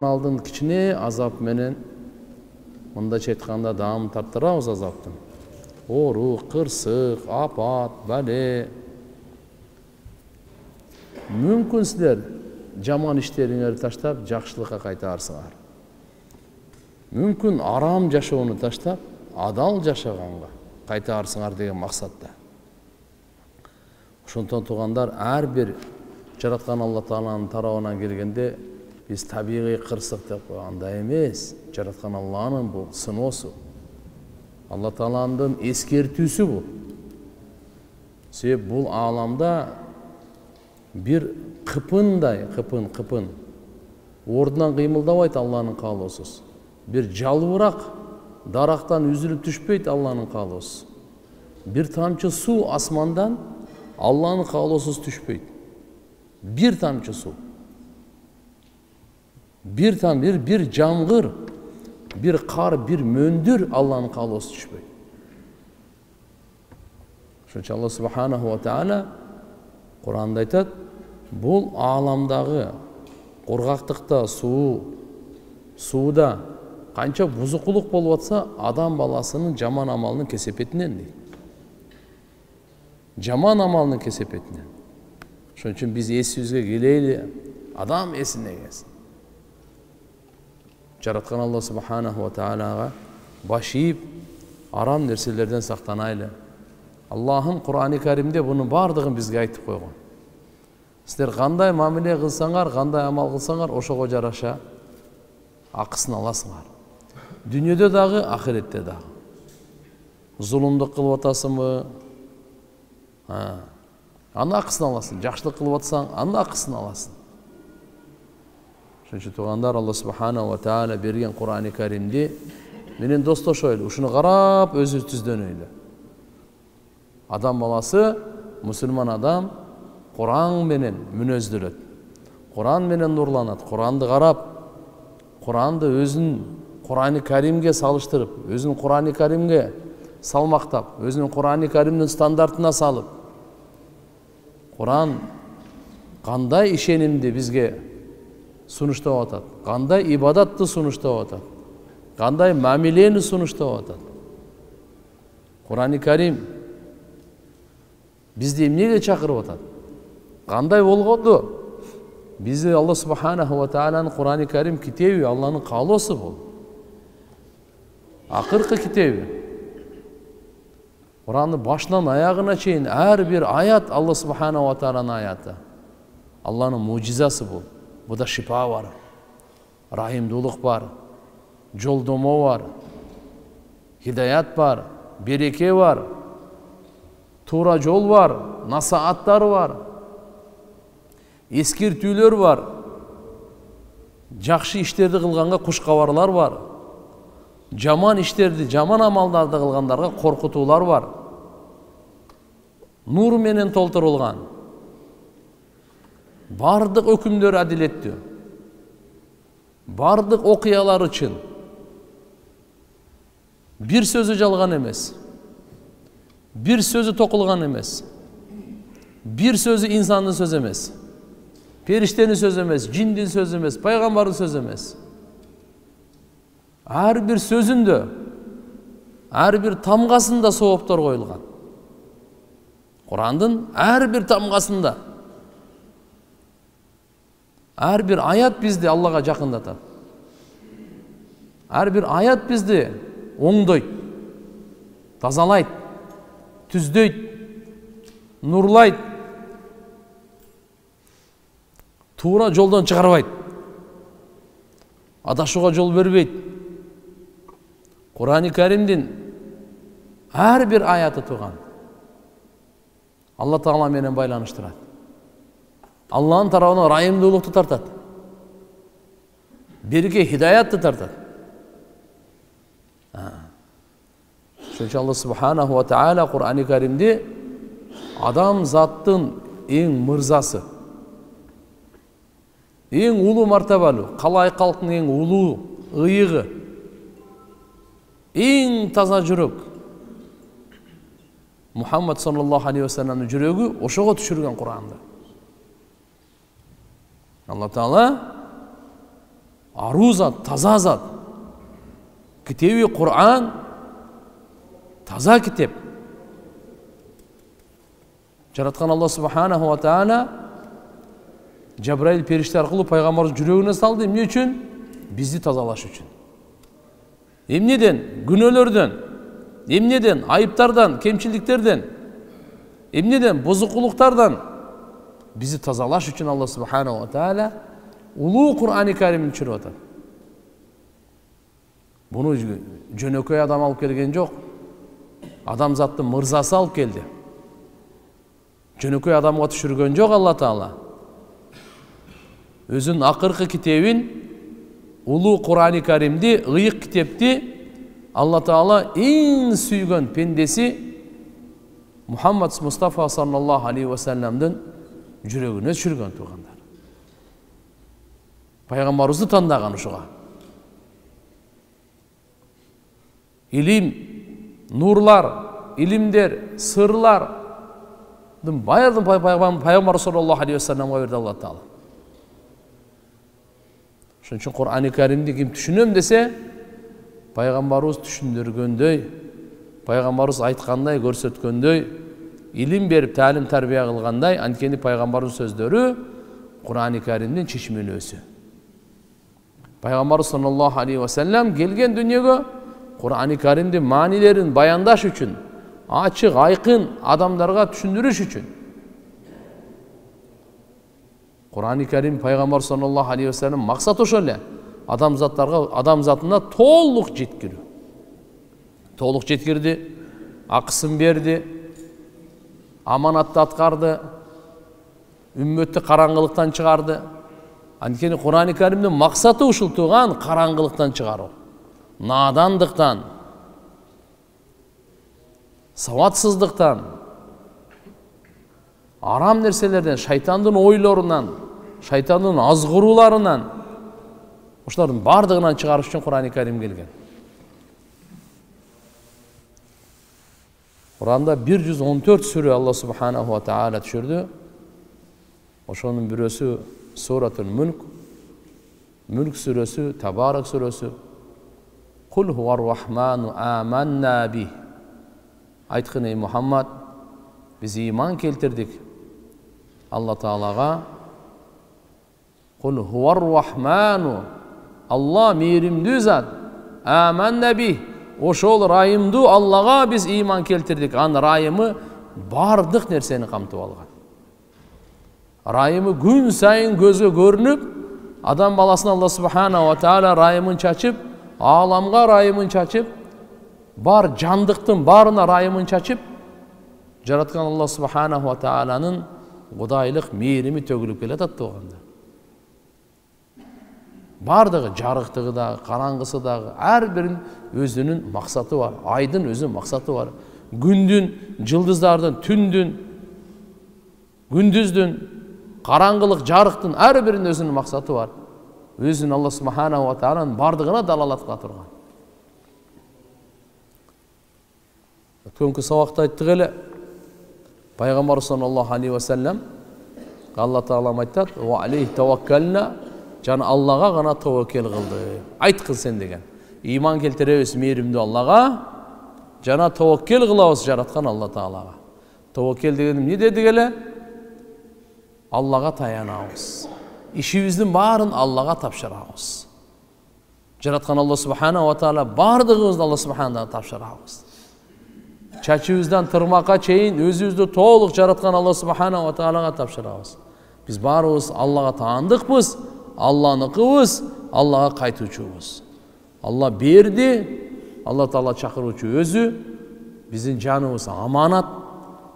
Алдын кичине азап менен мындайча айтканда даам тартырабыз азаптын. Оору, кырсык, апат, бале. Мүмкүн силер жаман иштериңерди таштап жакшылыкка кайтаарсыңар. Мүмкүн арам жашоону таштап адал жашаганга кайтаарсыңар деген максатта. Ошондон туугандар, ар бир жараткан Алла Тааланын тарабынан келгенде биз табигый кырсык деп койгандай эмес. Жараткан Алланын бул сыноосу. Алла Тааланын эскертүүсү бул. Себеп бул ааламда бир кыпындай, кыпын ордунан кыймылдабайт Алланын каалоосуз. Бир жалбырак дарактан үзүлүп түшпөйт Алланын каалоосу. Бир тамчы суу асмандан Алланын каалоосуз түшпөйт. Бир тамчы суу. Бир жамгыр, бир кар, бир мөндүр Алланын каалоосу түшпөйт. Ошончо Алла субханаху ва таала Куранда айтат, бул ааламдагы кургактыкта, сууда канча бузукулук болуп атса, адам баласынын жаман амалынын кесепетинен дейт. Жаман амалынын кесепетинен. Ошон үчүн биз эсибизге келели, адам эсине келсин. Жараткан Алла субханаху ва таалага баш ийип, арам нерселерден сактанайлы. Аллахым Кур'ани Каримде бунун бардыгын бизге айтып койгон. Силер кандай мамиле кылсаңар, кандай амал кылсаңар, ошого жараша акысын аласыңар. Дүйнөдө дагы, ахиретте дагы. Зулумдук кылып атасыңбы? Анын акысын аласың. Жакшылык кылып атсаң, анын акысын аласың. Ошон үчүн туугандар, Алла субханаху ва таала берген Кур'ани Каримди менен достошойлу, ушуну карап өзүбүздөнөйлү. Адам баласы, мусулман адам Кур'ан менен мүнөздөлөт. Кур'ан менен нурланат. Кур'анды карап, Кур'анды өзүнүн Кур'ани Каримге салыштырып, өзүнүн Кур'ани Каримге салмактап, өзүнүн Кур'ани Каримдин стандартына салып, Кур'ан кандай ишенимди бизге сунуштап атат, кандай ибадатты сунуштап атат, кандай мамилени сунуштап атат. Кур'ани Карим бизди эмнеге чакырып атат? Кандай болгонду? Бизди Алла субханаху ва тааланын Кур'ани Карим китеби Алланын каалоосу бул. Акыркы китеби. Кур'андын башынан аягына чейин ар бир аят Алла субханаху ва тааланын аяты. Алланын мужизасы бул. Буда шипа бар, рахимдуулук бар, жолдомо бар, хидаят бар, береке бар, туура жол бар, насааттар бар, эскертүүлөр бар, жакшы иштерди кылганга куш кабарлар бар, жаман иштерди, жаман амалдарды кылгандарга коркутуулар бар. Нур менен толтурулган. Бардык өкүмдөр адилеттүү. Бардык окуялар чын. Бир сөзү жалган эмес. Бир сөзү токулган эмес. Бир сөзү инсандын сөзү эмес. Периштенин сөзү эмес, жиндин сөзү эмес, пайгамбардын сөзү эмес. Ар бир сөзүндө, ар бир тамгасында сооптор коюлган. Кур'андын ар бир тамгасында. Ар бир аят бизди Аллага жакындатат. Ар бир аят бизди оңдойт, тазалайт, түздөйт, нурлайт, туура жолдон чыгарбайт, адашууга жол бербейт. Кур'ани Каримдин ар бир аяты туган Алла Таала менен байланыштырат. Алланын тарабынан райымдуулукту тартат. Береке, хидаятты тартат. Ошончо Алла субханаху ва таала Кур'ани Каримди адам заттын эң мырзасы, эң улуу мартабалуу, калай калктын эң улуу ыйыгы, эң таза жүрөк Мухаммад саллаллаху алейхи ва салламдын жүрөгү ошого түшүргөн Кур'анды. Алла Таала аруу зат, таза зат. Китеби Кур'ан таза китеп. Жараткан Алла Субханаху ва Таала Жабраил периште аркылуу пайгамбардын жүрөгүнө салды. Эмне үчүн? Бизди тазалаш үчүн. Эмнеден? Күнөөлөрдөн. Эмнеден? Айыптардан, кемчиликтерден. Эмнеден? Бузукулуктардан. Бизди тазалаш үчүн Алла Субханаху ва Таала улуу Кур'ани Каримди түшүрүп атат. Буну жөнөкөй адам алып келген жок. Адамзаттын мырзасы алып келди. Жөнөкөй адамга түшүргөн жок Алла Таала. Өзүнүн акыркы китебин, улуу Кур'ани Каримди, ыйык китепти Алла Таала эң сүйгөн пендеси Мухаммад Мустафа саллаллаху алейхи ва салламдын жүрөгүнө түшүргөн туугандар. Пайгамбарыбызды тандаган ушуга. Илим, нурлар, илимдер, сырлардын баардыгын Пайгамбар саллаллаху алейхи ва салламга берди Алла Таала. Ошон үчүн Кур'ани Каримди ким түшүнөм десе, пайгамбарыбыз түшүндүргөндөй, пайгамбарыбыз айткандай, көрсөткөндөй, илим берип, таалим тарбия кылгандай, анткени пайгамбардын сөздөрү Кур'ани Каримдин чечмелөөсү. Пайгамбарыбыз саллаллаху алейхи ва саллям келген дүнүйөгө Кур'ани Каримдин маанилерин баяндаш үчүн, ачык, айкын адамдарга түшүндүрүш үчүн. Кур'ани Карим пайгамбар саллаллаху алейхи ва саллям максаты ошол эле. Адамзатына толук жеткирүү. Толук жеткирди, акысын берди, аманатты аткарды, үммөттү караңгылыктан чыгарды. Анткени Кур'ани Каримдин максаты ушул тууган, караңгылыктан чыгаруу. Надандыктан, сабатсыздыктан, арам нерселерден, шайтандын ойлорунан, шайтандын азгырууларынан, ошолордун бардыгынан чыгарыш үчүн Кур'ани Карим келген. Кур'анда 114 сүрө Алла Субханаху ва Таала түшүрдү. Ошонун бирөөсү Суратул Мүлк, Мүлк сүрөсү, Табарак сүрөсү. Кул хуар рахману аманна бих. Айткын эй Мухаммад, биз иман келтирдик Алла Таалага. Кул хуар рахману, Алла мейримдүү зат. Аманна бих. Ошол райымдуу Аллага биз иман келтирдик. Анын райымы бардык нерсени камтып алган. Райымы күн сайын көзгө көрүнүп, адам баласына Алла Субханаху ва Таала райымын чачып, ааламга райымын чачып, бар жандыктын баарына райымын чачып, жараткан Алла Субханаху ва Тааланын кудайлык мээрими төгүлүп келатат туугандар. Бардыгы, жарыктыгы дагы, караңгысы дагы, ар биринин өзүнүн максаты бар. Айдын өзүнүн максаты бар. Күндүн, жылдыздардын, түндүн, күндүздүн, караңгылык, жарыктын ар биринин өзүнүн максаты бар. Өзүнүн Алла Субханаху ва Тааланын бардыгына далалат кыла турган. Өткөнкү сабакта айттык эле. Пайгамбар саллаллаху алейхи ва саллям Алла Таалам айтат: "Ва алейхи таваккална", жана Аллага гана таваккел кылды. Айткын сен деген. Иман келтиребиз мээримдүү Аллага, жана таваккел кылабыз жараткан Алла Таалага. Таваккел деген эмне дедик эле? Аллага таянабыз. Ишибиздин баарын Аллага тапшырабыз. Жараткан Алла Субханаху ва Таала бардыгыбызды Алла Субханаху тапшырабыз. Чачыбыздан тырмакка чейин өзүбүздү толук жараткан Алла Субханаху ва Таалага тапшырабыз. Биз баарыбыз Аллага таандыкпыз, Алланыкыбыз, Аллага кайтуучубуз. Алла берди, Алла Таала чакыруучу өзү, биздин жаныбыз аманат.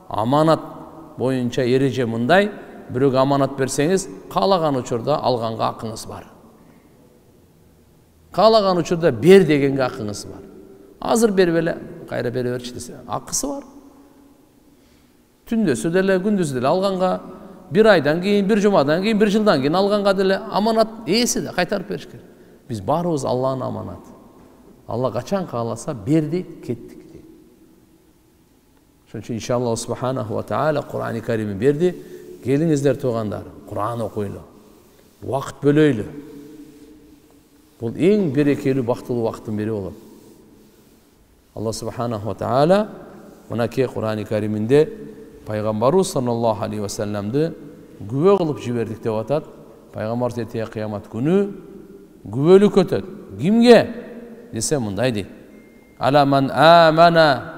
Аманат боюнча эреже мындай: бирөөгө аманат берсеңиз, каалаган учурда алганга акыңыз бар. Каалаган учурда бер дегенге акыңыз бар. Азыр бербеле, кайра бере берчи десе, акысы бар. Түндөсү деле, күндүзү деле алганга, bir aydan keyin, bir jumadan keyin, bir жылдан keyin алганга деле аманат ээси да кайтарып бериш керек. Биз баарыбыз Алланын аманаты. Алла качан кааласа берди, кеттик дейт. Ошон үчүн иншаллах Субханаху ва Таала Кур'ани Каримди берди. Келиңиздер туугандар, Кур'ан окуйлу. убакыт бөлөйлү. Бул эң берекелүү, бактылуу убакыттын бири болот. Алла субханаху ва таала мынакей Кур'ани Кариминде пайгамбарыбыз саллаллаху алейхи ва салламды күбө кылып жибердик деп атат. Пайгамбар эртеге кыямат күнү күбөлүк өтөт. Кимге десе мындай дейт: Ала ман амана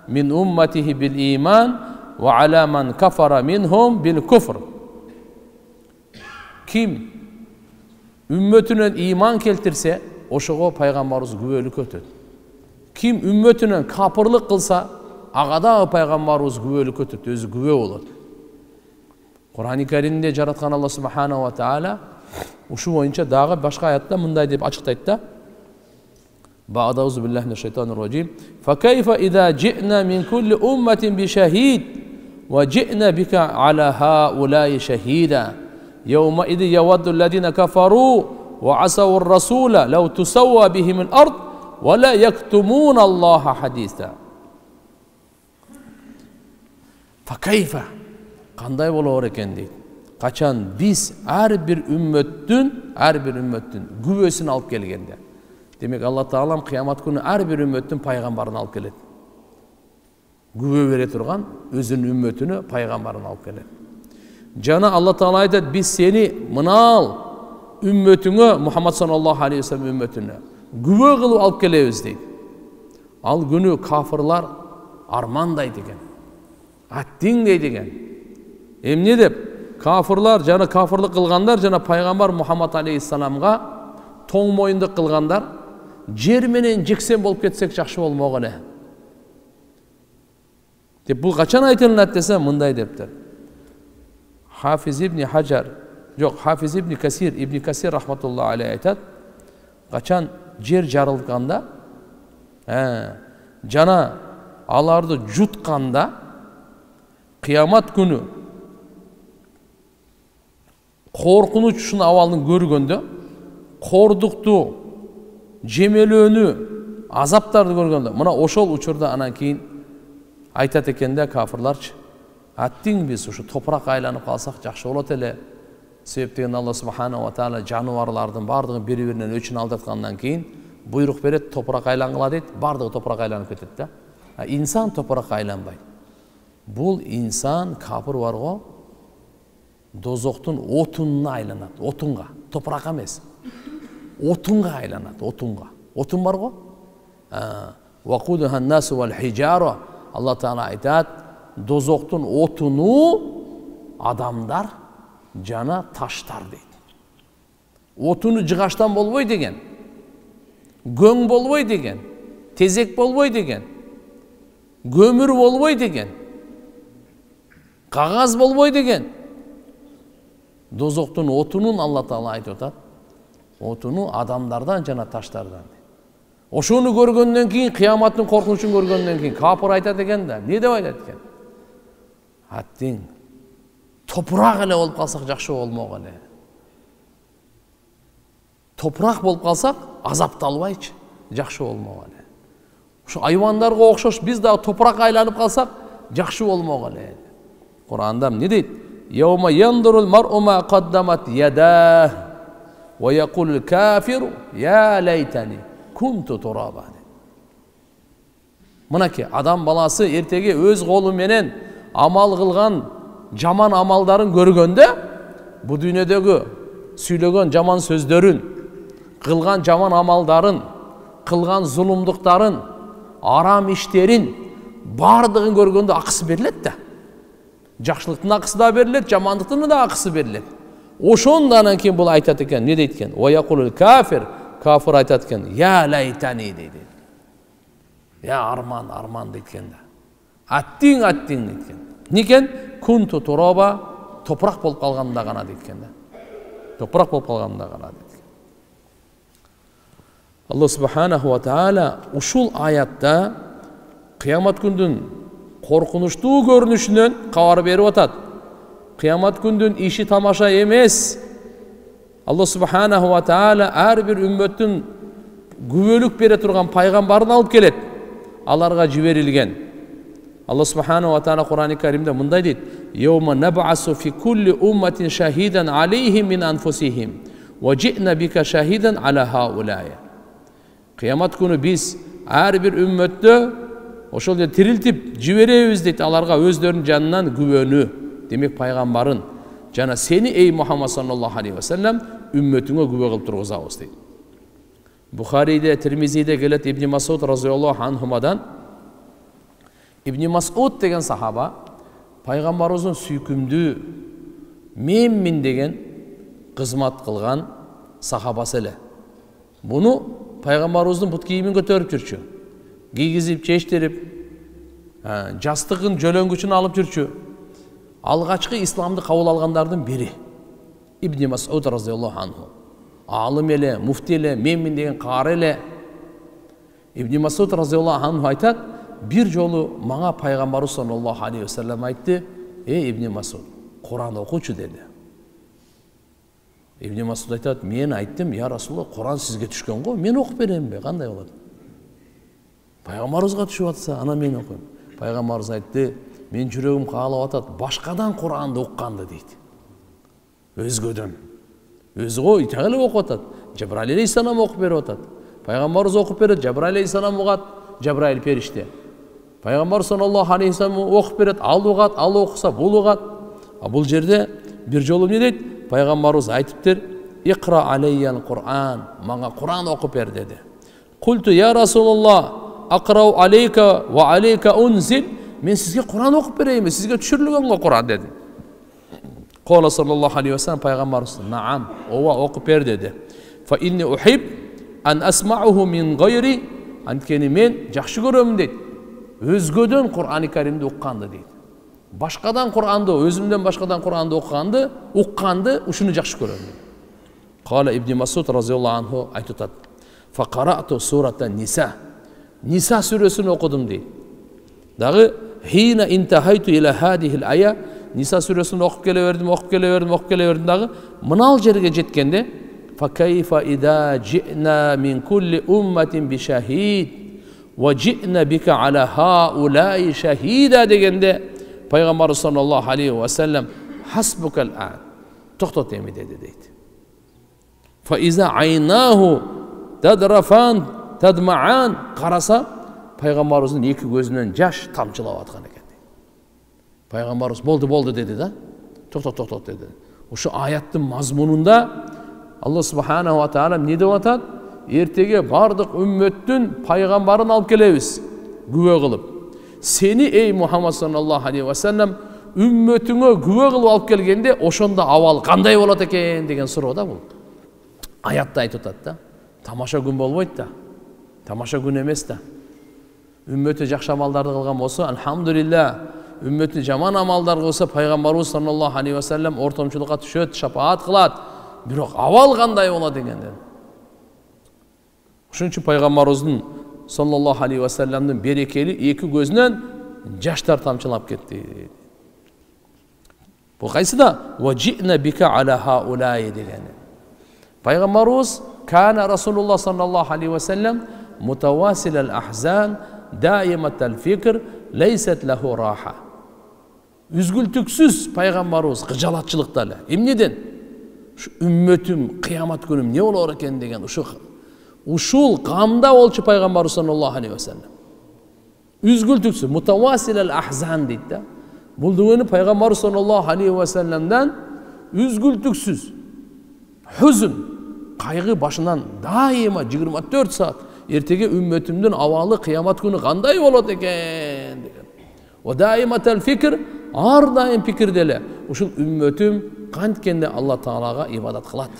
мин умматихи бил иман ва ала ман кафара минхум бил куфр. Ким үммөтүнөн иман келтирсе, ошого пайгамбарыбыз күбөлүк өтөт. Ким үммөтүнөн капырлык кылса, ага да пайгамбарыбыз күбөлүк өтөт, өзү күбө болот. Кур'ани Каримде жараткан Алла субханаху ва таала ушу боюнча дагы башка аятта мындай деп ачыктайт да: Ба'дауз биллахи минаш шайтанир раджим. Фа кайфа иза джи'на мин кулли умматин би шахид ва джи'на бика аля хаулаи шахида. Yawma idh yawaddu alladhina kafaru wa asaw ar-rasula law tusawwa bihim al-ard wa la yaktumuna Allaha haditha. Fa kayfa? Кандай болор экен дейт. Качан биз ар бир үммөттүн күбөсүн алып келгенде. Демек Алла Таалам кыямат күнү ар бир үммөттүн пайгамбарын алып келет. Күбө бере турган өзүнүн үммөтүнө пайгамбарын алып келет. Жана Алла Таала айтат: биз сени мынал үммөтүңө, Мухаммад саллаллаху алейхи ва саллям үммөтүнө күбө кылып алып келебиз дейт. Ал күнү кафырлар армандайт экен. Аттиң дейт экен. Эмне деп? Кафырлар жана кафырлык кылгандар жана пайгамбар Мухаммад алейхиссаламга тоң моюндук кылгандар жер менен жексен болуп кетсек жакшы болмок эле. Деп бул качан айтылат десе мындай дептир. Хафиз ибн Хаджар, жок, Хафиз ибн Касир рахматуллаху алейхи айтат: качан жер жарылганда, жана аларды жутканда, кыямат күнү коркунуч ушун абалын көргөндө, кордукту, жемелөөнү, азаптарды көргөндө, мына ошол учурда анан кийин айтат экен да кафырларчы: аттиң биз ушу топурак айланып калсак жакшы болот эле. Себеп деген Алла субханаху ва таала жаныбарлардын бардыгын бири-биринен өчүн алдаткандан кийин буйрук берет, топурак айлангыла дейт, бардыгы топурак айланып кетет да. Инсан топуракка айланбайт. Бул инсан капыр бар го, дозоктун отунуна айланат, отунга, топуракка эмес. Отунга айланат, отунга. Отун бар го? Вакудуха ан-насу вал хижара. Алла Таала айтат: дозоктун отуну адамдар жана таштар дейт. Отуну жыгаштан болбой деген, көң болбой деген, тезек болбой деген, көмүр болбой деген, кагаз болбой деген. Дозоктун отунун Алла Таала айтып атат: отуну адамдардан жана таштардан. Ошону көргөндөн кийин, кыяматтын коркунучун көргөндөн кийин капыр айтат экен да. Эмне деп айтат экен? Аттиң топурак эле болуп калсак жакшы болмок эле. Топурак болуп калсак азапталбайчы, жакшы болмок эле. Ошо айвандарга окшош биз дагы топуракка айланып калсак жакшы болмок эле. Кур'анда эмне дейт? Yawma yandurul mar'u ma qaddamat yadah wa yaqulul kafiru ya laytani kuntu turaba. Мынакей адам баласы эртеге өз колу менен амал кылган жаман амалдарын көргөндө, бу дүйнөдөгү сүйлөгөн жаман сөздөрүн, кылган жаман амалдарын, кылган зулумдуктарын, арам иштерин бардыгын көргөндө акысы берилет да. Жакшылыктын акысы да берилет, жамандыктын да акысы берилет. Ошондан кийин бул айтат экен, эмне дейт экен? Ва якулул кафир, кафир айтат экен: я лайтани дейт. Я арман дейт экен да. Аттиң дейт экен. Некен? Кунту туроба, топурак болуп калганда гана дейт экен да. Топурак болуп калганда гана дейт экен. Алла субханаху ва таала ушул аятта кыямат күндүн коркунучтуу көрүнүшүнөн кабар берип атат. Кыямат күндүн иши тамаша эмес. Алла субханаху ва таала ар бир үммөттүн күбөлүк бере турган пайгамбарын алып келет. Аларга жиберилген. Алла субханаху ва таала Кур'ани Каримде мындай дейт: Yawma nab'asu fi kulli ummatin shahidan alayhim min anfusihim wa ji'na bika shahidan ala haula'i. Кыямат күнү биз ар бир үммөттө ошол эле тирилтип жиберебиз дейт аларга өздөрүнүн жанынан күбөнү, демек пайгамбарын жана сени эй Мухаммад саллаллаху алейхи ва саллям үммөтүңө күбө кылып тургузабыз дейт. Бухарийде, Тирмизиде келет Ибн Масуд разияллаху анхумадан. Ибн Масуд деген сахаба пайгамбарыбыздын сүйкүмдүү менмин деген кызмат кылган сахабасы эле. Буну пайгамбарыбыздын бут кийимин көтөрүп жүрчү. Кийгизип, чечтирип, жастыгын жөлөнгүчүн алып жүрчү. Алгачкы исламды кабыл алгандардын бири Ибн Масуд разияллаху анху. Алым эле, муфти эле, менмин деген каары эле. Ибн Масуд разияллаху анху айтат, бир жолу мага пайгамбарыбыз саллаллаху алейхи ва саллям айтты: "Эй Ибн Масуд, Куран окучу" деди. Ибн Масуд айтат: "Мен айттым, я Расулалла, Куран сизге түшкөн го, мен окуп беремби? Кандай болот? Пайгамбарыбызга түшүп атса, ана мен окуйм." Пайгамбарыбыз айтты: "Мен жүрөгүм каалап атат башкадан Куранды укканды" дейт. Өзгөдөн. Өзү го итак эле окуп атат. Жабраил алейхиссалам окуп берип атат. Пайгамбарыбыз окуп берет, Жабраил алейхиссалам угат, Жабраил периште. Пайгамбар саллаллаху алейхи ва саллям окуп берет, ал угат, ал окуса бул угат. А бул жерде бир жолу эмне дейт? Пайгамбарыбыз айтыптыр: "Икра алейял Кур'ан", мага Куран окуп бер деди. Культу я Расулаллах, акрау алейка ва алейка унзил, мен сизге Куран окуп берейинби, сизге түшүрүлгөн го Куран деди. Кала саллаллаху алейхи ва саллям пайгамбарыбыз: "Наам, ооба окуп бер" деди. Фа инни ухиб ан асмауху мин гайри, анткени мен жакшы көрөмүн дейт. Өзгөдөн Кур'ан-ы Каримди укканды дейт. Башкадан Кур'анды, өзүмдөн башкадан Кур'анды укканды, ушуну жакшы көрөм. Кала Ибн Масуд разияллаху анху айтат: "Фа карату сурата Ниса". Ниса сүрөсүн окудум дейт. Дагы хина интахайту ила хадихил ая, Ниса сүрөсүн окуп келе бердим дагы мынал жерге жеткенде фа кайфа ида жи'на мин кулли умматин би шахид ва жи'на бика ала хаулаи шахида дегенде пайгамбар саллаллаху алейхи ва саллям хасбукал ан, токтот эми деди дейт. Фа иза айнаху тадрафан тадмаан, караса пайгамбарыбыздын эки көзүнөн жаш тамчылап аткан экен. Пайгамбарыбыз болду деди да. Токтот деди. Ошо аяттын мазмунунда Алла субханаху ва таала эмне деп атат? Эртеге бардык үммөттүн пайгамбарын алып келебиз, күбө кылып. Сени эй Мухаммад саллаллаху алейхи ва саллям үммөтүңө күбө кылып алып келгенде ошондо абал кандай болот экен деген суроо да бул. Аятта айтып атат да. Тамаша күн болбойт да. Тамаша күн эмес да. Үммөтү жакшы амалдарды кылган болсо, алхамдулилlah. Үммөтү жаман амалдар кылса, пайгамбарыбыз саллаллаху алейхи ва саллям ортомчулукка түшөт, шапаат кылат. Бирок абал кандай болот дегенде. Ошон үчүн пайгамбарыбыздын саллаллаху алейхи ва саллямдын берекели эки көзүнөн жаштар тамчылап кетти. Бул кайсыда? Ва жи'на бика ала хаулаи деген. Пайгамбарыбыз кана Расулуллах саллаллаху алейхи ва саллям мутавасил ал-ахзан, даимат ал-фикр, лейсат лаху раха. Үзгүлтүксүз пайгамбарыбыз кыжалатчылыкта эле. Эмнеден? Ушу үммөтүм кыямат күнү эмне болор экен деген ушул камда болчу пайгамбар саллаллаху алейхи ва саллям. Үзгүлтүксүз мутавасил ал-ахзан дейт да. Бул дегени пайгамбар саллаллаху алейхи ва саллямдан үзгүлтүксүз хузун, кайгы башынан дайыма 24 саат эртеге үммөтүмдүн абалы кыямат күнү кандай болот экен деген. Ва дайыматал фикр, ар дайым пикирде эле ушул үммөтүм канткенде Алла Таалага ибадат кылат.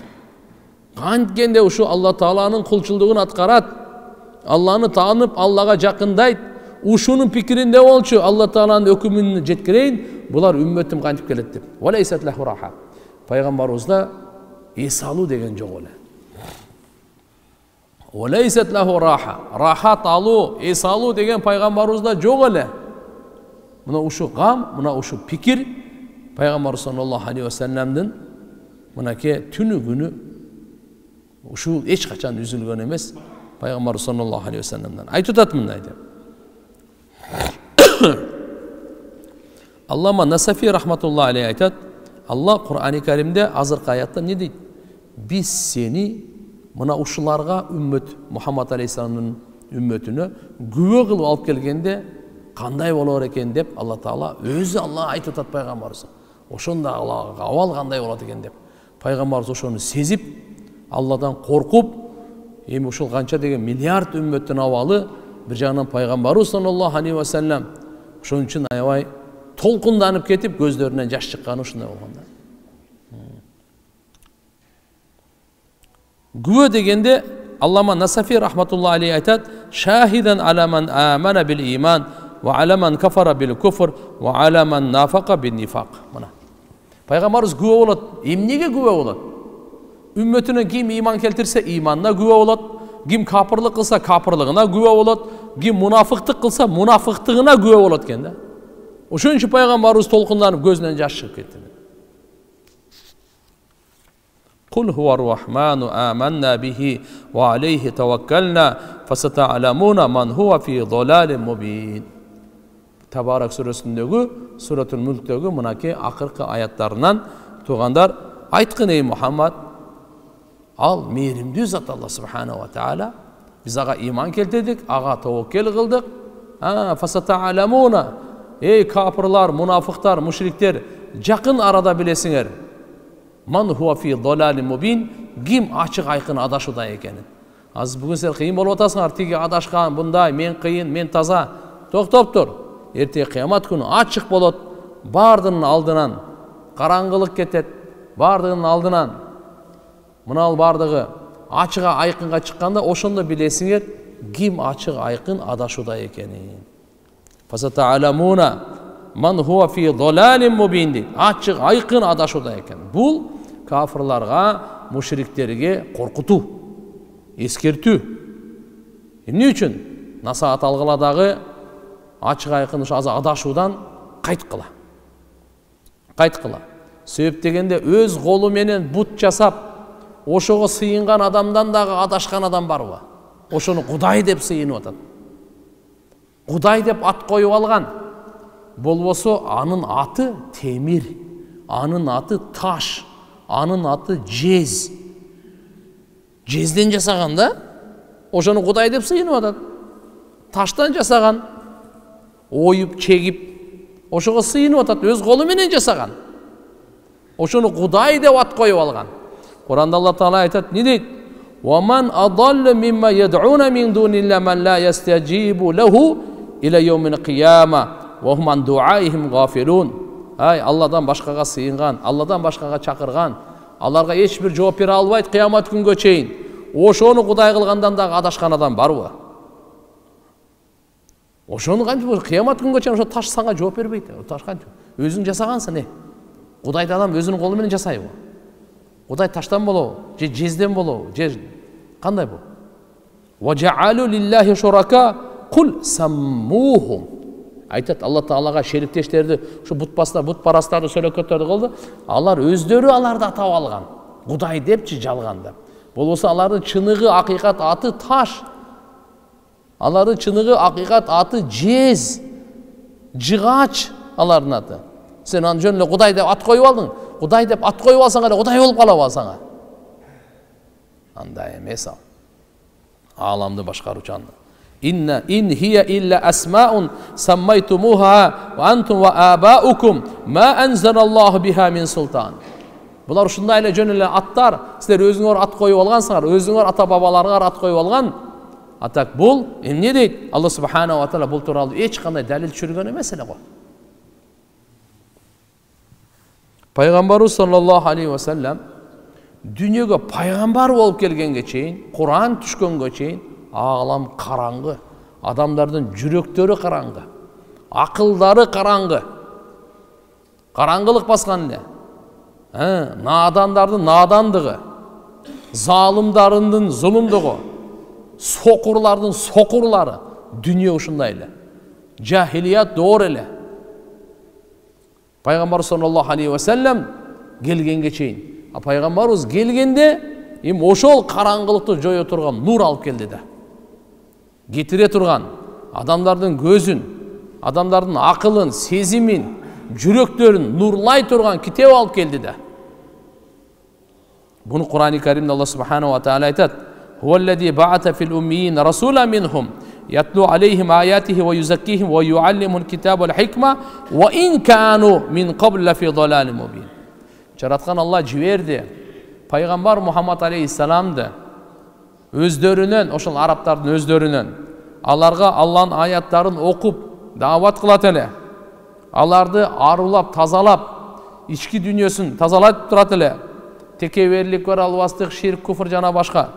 Канткенде ушу Алла Тааланын кулчулдугун аткарат. Алланы таанып, Аллага жакындайт. Ушунун пикиринде болчу, Алла Тааланын өкүмүн жеткирейин, булар үммөтүм кантип келет деп. Ва лейсат лаху раха. Пайгамбарыбызда эс алуу деген жок эле. Ва лейсат лаху раха. Рахат алуу, эс алуу деген пайгамбарыбызда жок эле. Мына ушу гам, мына ушу пикир пайгамбар саллаллаху алейхи ва саллямдын мынакей түнү күнү ушул эч качан үзүлгөн эмес. Пайгамбар саллаллаху алейхи ва саллямдан айтып атат мындай деп. Аллама Насафи рахматулла алейхи айтат, Алла Кур'ани Каримде азыркы аятта не дейт? Биз сени мына ушуларга үммөт Мухаммад алейхиссаламдын үммөтүнө күбө кылып алып келгенде кандай болор экен деп Алла Таала өзү Алла айтып атат пайгамбарыбызга. Ошондо абал кандай болот экен деп. Пайгамбарыбыз ошону сезип, Алладан коркуп, эми ушул канча деген миллиард үммөттүн абалы бир жагынан пайгамбарыбыз саллаллаху алейхи ва саллям ошон үчүн аябай толкунданып кетип көздөрүнөн жаш чыкканы ушундай болгон да. Күбө дегенде Аллама Насафи рахматулла алейхи айтат, шахидан ала ман амана бил иман ва ала ман кафара бил куфр ва ала ман нафака бин нифак. Мына пайгамбарыбыз күбө болот. Эмнеге күбө болот? Үммөтүнө ким иман келтирсе иманына күбө болот, ким капырлык кылса капырлыгына күбө болот, ким мунафыктык кылса мунафыктыгына күбө болот экен да. Ошон үчүн пайгамбарыбыз толкунданып көзүнөн жаш чыгып кетти. Кул хуар рахману аманна бихи ва алейхи таваккална фасата'ламуна ман хуа фи долалин мубин. Табарак сүрөсүндөгү, Суратул Мүлктөгү мынаки акыркы аяттарынан тугандар, айткын эй Мухаммад, ал мээримдүү зат Алла субханаху ва таала, биз ага иман келтирдик, ага таваккел кылдык. Фасата'ламуна, эй капырлар, мунафыктар, мушриктер, жакын арада билесиңер. Ман хуа фи долалин мубин, ким ачык айкын адашууда экенин. Азыр бүгүн сен кыйын болуп атасыңар, тиги адашкан, bunday, мен кыйын, мен таза. Токтоп тур. Эртең кыямат күнү ачык болот. Бардынын алдынан караңгылык кетет. Бардынын алдынан мынал бардыгы ачыга айкынга чыкканда ошондо билесиңер ким ачык айкын адашууда экенин. Фасата'ламуна ман хуа фи долалин мубин дейт. Ачык айкын адашууда экен. Бул кафырларга, мушриктерге коркутуу, эскертүү. Эмне үчүн? Насаат алгыла дагы ачык айкын адашуудан кайткыла. Кайткыла. Себеп дегенде өз колу менен бут жасап, ошого сыйынган адамдан дагы адашкан адам барбы? Ошону Кудай деп сыйынып атат. Кудай деп ат коюп алган. Болбосо анын аты темир, анын аты таш, анын аты жез. Жезден жасаган да? Ошону Кудай деп сыйынып атат. Таштан жасаган, оюп, чегип, ошого сыйынып атат, өз колу менен жасаган. Ошону Кудай деп ат коюп алган. Куранда Алла Таала айтат, не дейт? وَمَنْ أَضَلُّ مِمَّا يَدْعُونَ مِنْ دُونِ اللَّهِ مَنْ لَا يَسْتَجِيبُ لَهُ إِلَى يَوْمِ الْقِيَامَةِ وَهُمْ عَنْ دُعَائِهِمْ غَافِلُونَ. Ай, Алладан башкага сыйынган, Алладан башкага чакырган, аларга эч бир жооп бере албайт кыямат күнгө чейин. Ошону Кудай кылгандан дагы адашкан адам барбы? Ошону кантип кыямат күнгө чейин ошо таш сага жооп бербейт. Таш кантип? Өзүң жасагансың, Кудайды адам өзүнүн колу менен жасайбы? Кудай таштан болобу, же жезден болобу, же кандай бул? وَجَعَلُوا لِلَّهِ شُرَكَاءَ قُلْ سَمُّوهُمْ. Айтат Алла Таалага шериктештерди, ушу бутпарастарды, сөлөкөттөрдү кылды. Алар өздөрү аларды атап алган. Кудай депчи жалганда. Болбосо алардын чыныгы акыйкат аты таш. Алардын чыныгы акыйкат аты жез, жыгач алардын аты. Сен аны жөн эле Кудай деп ат коюп алдың. Кудай деп ат коюп алсаң эле Кудай болуп калабы алсаңа? Андай эмес ал. Аламды башкаруучу анда. ин хия илля асмаун саммайтумуха ва антум ва абаукум ма анзалаллаху биха мин султан. Булар ушундай эле жөн эле аттар, силер өзүңөр ат коюп алгансыңар, өзүңөр ата бабаларыңар ат коюп алган. Атак бул эмне дейт? Алла субханаху ва таала бул тууралуу эч кандай далил түшүргөн эмес эле го. Пайгамбарыбыз саллаллаху алейхи ва саллям дүйнөгө пайгамбар болуп келгенге чейин, Куран түшкөнгө чейин алам караңгы, адамдардын жүрөктөрү караңгы, акылдары караңгы. Караңгылык баскан эле. Надандардын надандыгы, залымдардын зулумдугу, сокурлардын сокурлары, дүйнө ушундай эле. Жахилият доор эле. Пайгамбар саллаллаху алейхи ва саллям келгенге чейин, пайгамбарыбыз келгенде ошол караңгылыкты жое турган нур алып келди да. Кетире турган адамдардын көзүн, адамдардын акылын, сезимин, жүрөктөрүн нурлай турган китеп алып келди да. Буну Кур'ан-ы Каримде Аллах субханаху ва тааля айтат: "Хуаллази ба'ата фил уммиин расула минхум ятлу алейхим аятихи ва юзаккихим ва юаллимул китаба вал хикма ва ин кану мин qabl фи далалин мубин." Жараткан Аллах жиберди пайгамбар Мухаммад алейхиссаламды өздөрүнөн, ошол арабтардын өздөрүнөн аларга Аллахтын аяттарын окуп, даават кылат эле. Аларды арулап, тазалап, ички дүйнөсүн тазалап турат эле. Текеберлик бар, албастык, ширк, куфр жана башка.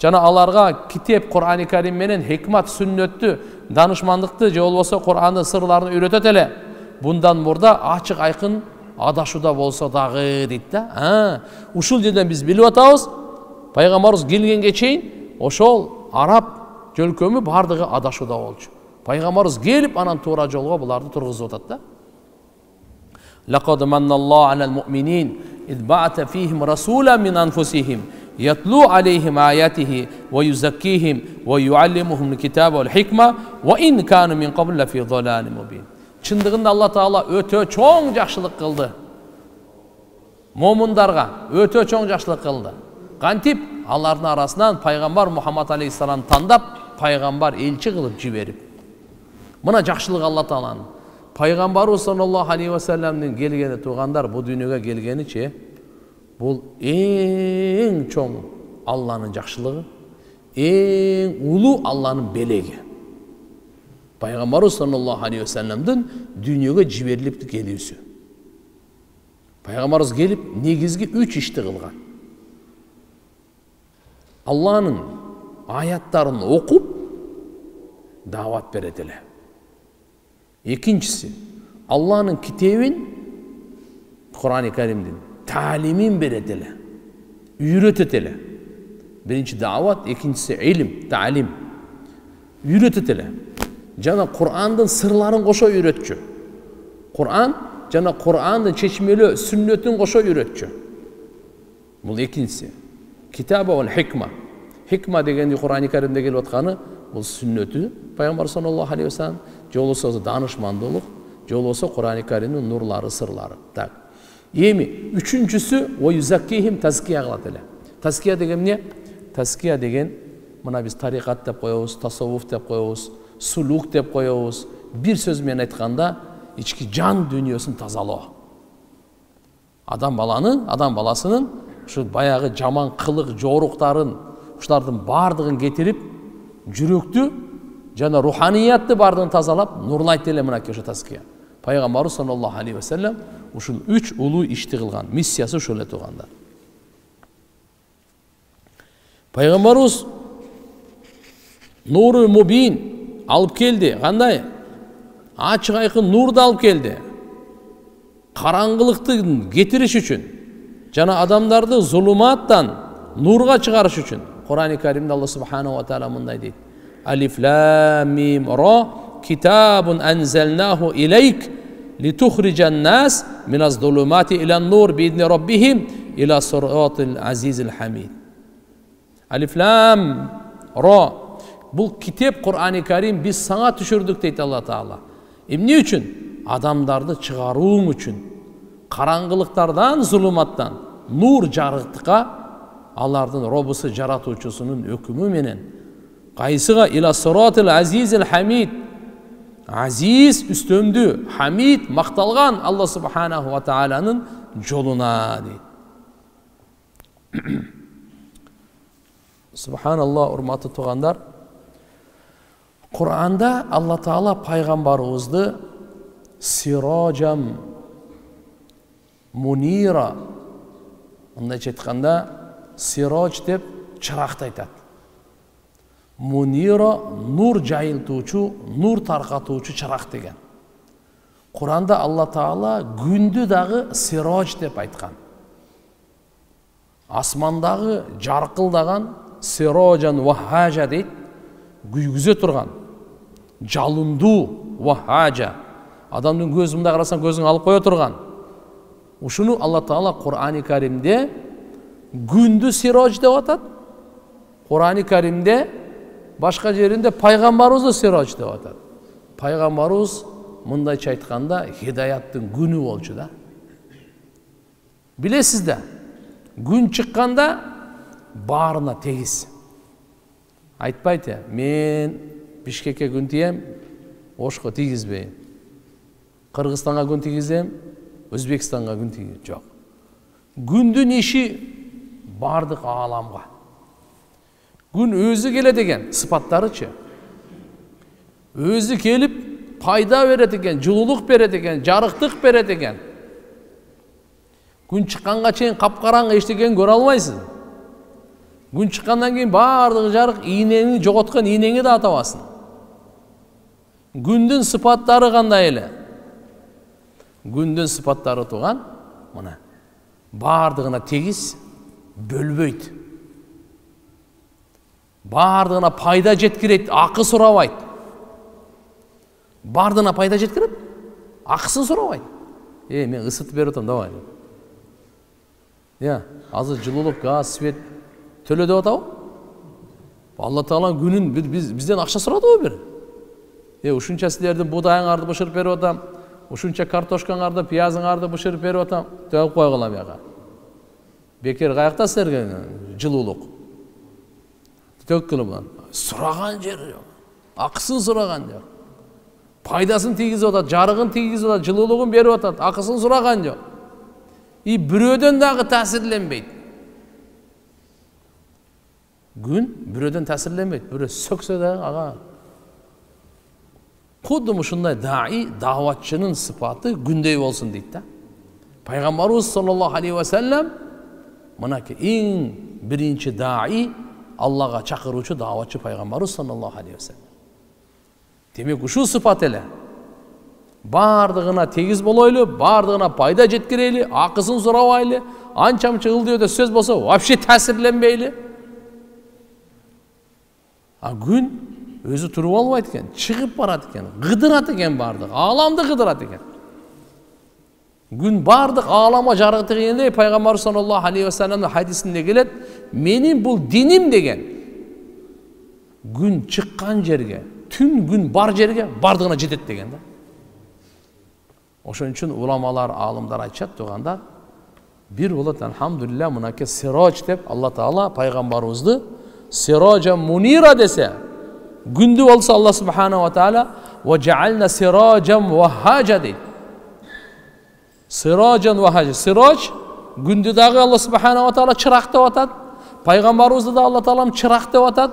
Жана аларга китеп Кур'ан-ы Карим менен хикмат, сүннөттү, данышмандыкты же болбосо Кур'андын сырларын үйрөтөт эле. Bundan murda açık aykın adaşuda bolsa dağı deydi da. Uşul жерден biz bilip atabız. Peygamberimiz gelgenge çeyin oşol Arap jölkömü bardığı adaşuda bolчу. Peygamberimiz gelip anan toora jolgo bulardı turguzup atat da. Laqad manallahu alal mu'minin iz ba'ata fihim rasulan min anfusihim yatlu alayhim ayatihi ve yuzakkihim ve yuallimuhumul kitaba vel hikma ve in kanu min qabl fi dhalalin mubin. Чындыгында Алла Таала өтө чоң жакшылык кылды. Момундарга өтө чоң жакшылык кылды. Кантип алардын арасынан пайгамбар Мухаммад алейхиссалам тандап, пайгамбар элчи кылып жиберип. Мына жакшылык Алла Тааланын. Пайгамбарыбыз саллаллаху алейхи ва салламдын келгени туугандар, бу дүйнөгө келгеничи бул эң чоң Алланын жакшылыгы, эң улуу Алланын белеги. Пайгамбарыбыз саллаллаху алейхи ва салламдын дүйнөгө жиберилип келүүсү. Пайгамбарыбыз келип негизги 3 ишти кылган. Алланын аяттарын окуп даават берет эле. Экинчиси, Алланын китебин Кур'ан-ы Каримдин таалимин берет эле. Үйрөтөт эле. Биринчи даават, экинчиси илим, таалим. Үйрөтөт эле. Жана Кур'андын сырларын кошо үйрөтчү. Кур'ан жана Кур'андын чечмелүү сүннөтүн кошо үйрөтчү. Бул экинчиси. Китаба вал хикма. Хикма дегенди Кур'ан-ы Каримде келип атканы бул сүннөтү пайгамбар саллаллаху алейхи ва саллам, же болбосо данышмандуулук, же болбосо Кур'ан-ы Каримдин нурлары, сырлары. Так. Эми үчүнчүсү ва юзаккихим тазкия кылат эле. Тазкия деген эмне? Тазкия деген мына биз тарикат деп коебуз, тасаввуф деп коебуз, сулук деп коебуз. Бир сөз менен айтканда ички жан дүйнөсүн тазалоо. Адам баласынын ушу баягы жаман кылык, жоруктарын, ушулардын бардыгын кетирип, жүрөктү жана руханиятты бардыгын тазалап, нурлайт эле мынакей ошо тазкия. Пайгамбарыбыз саллаллаху алейхи ва саллам ушул 3 улуу ишти кылган. Миссиясы ушул эле туугандар. Пайгамбарыбыз нуру мубин алып келди. Кандай? Ачык айкын нурду алып келди. Караңгылыкты кетириш үчүн жана адамдарды зулуматтан нурга чыгарыш үчүн. Кур'ан-ы Каримде Аллах субханаху ва тааля мындай дейт: Алиф лам мим ра китабун анзалнаху илейк литухриджан нас миназ зулумати илан нур биидни раббихим ила сиратил азизил хамид. Алиф лам ра. Бул китеп Кур'ан-ы Карим биз саңа түшүрдүк дейт Алла Таала. Эмне үчүн? Адамдарды чыгарууң үчүн. Караңгылыктардан, зулуматтан нур жарыктыкка, алардын робусу, жаратуучусунун өкүмү менен кайсыга ила сиратил азизил хамид. Азиз үстөмдүү, хамид макталган Алла субханаху ва тааланын жолуна дейт. Субханаллах, урматтуу туугандар. Кур'анда Алла Таала пайгамбарыбызды сираджам мунира, мындайча айтканда, сирадж деп чыракты айтат. Мунира нур жайылтуучу, нур таркатуучу чырак деген. Кур'анда Алла Таала күндү дагы сирадж деп айткан. Асмандагы жаркылдаган сираджан вахажа дейт, күйгүзө турган, жалындуу вахажа. Адамдын көзүн мындай карасаң көзүң алып кое турган. Ушуну Алла Таала Кур'ан-ы Каримде күндү сирадж деп атат. Кур'ан-ы Каримде башка жеринде пайгамбарыбызды сирадж деп атат. Пайгамбарыбыз мындайча айтканда хидаяттын күнү болчу да. Билесиз да, күн чыкканда баарына тегиз. Айтпайт, мен Бишкекке күн тием, Ошко тийгизбейм. Кыргызстанга күн тийгизем, Өзбекстанга күн тийгизем. Жок. Күндүн иши бардык ааламга. Күн өзү келет экен, сыпаттарычы. Өзү келип пайда берет экен, жылуулук берет экен, жарыктык берет экен. Күн чыкканга чейин капкараңгы эчтекени көрө албайсыз. Күн чыккандан кийин бардыгы жарык, ийнени жоготкон ийнеңи да атабасың. Күндүн сыпаттары кандай эле? Күндүн сыпаттары туган мына бардыгына тегиз, бөлбөйт. Бардыгына пайда жеткирет, акы сурабайт. Бардыгына пайда жеткирет, акысын сурабайт. Мен ысытып берип атам, давай. Азыр жылуулук, газ, свет төлө деп атабы? Алла Таала күнүн бизден акча сурадыбы бир? Ушунча силердин будайыңарды бышырып берип атам, ушунча картошкаңарды, пиязыңарды бышырып берип атам, деп койгула бияга. Бекер каякта силерге жылуулук? Төккүлү сураган жер жок. Акысын сураган жок. Пайдасын тийгизип атат, жарыгын тийгизип атат, жылуулугун берип атат, акысын сураган жок. Бирөөдөн дагы таасирленбейт. Күн бирөөдөн таасирленбейт. Бирөө сөксө дагы ага. Кудду ушундай дааватчынын сыпаты күндөй болсун дейт да. Пайгамбарыбыз саллаллаху алейхи ва саллям мынакей эң биринчи даи, Аллага чакыруучу дааватчы пайгамбарыбыз саллаллаху алейхи ва саллям. Демек ушул сыпат эле. Бардыгына тегиз болойлу, бардыгына пайда жеткирели, акысын сурабайлы, анча-мынча ылдыйда сөз болсо вообще таасирленбейли. Күн өзү туруп албайт экен, чыгып барат экен, кыдырат экен бардык, ааламды кыдырат экен. Күн бардык ааламга жарык дегенде пайгамбар саллаллаху алейхи ва салламдын хадисинде келет, менин бул диним деген күн чыккан жерге, түн күн бар жерге бардыгына жетет деген да. Ошон үчүн уламалар, аалымдар айтышат туганда, бир болот алхамдулилля мынакей сирож деп Алла Таала пайгамбарыбызды сирожа мунира десе, күндү болсо Алла субханаху ва таала ва жаална сирожан вахажа дейт. Сирожан вахажа. Сирож күндү дагы Алла субханаху ва таала чырак деп атат. Пайгамбарыбызды да Алла Таалам чырак деп атат.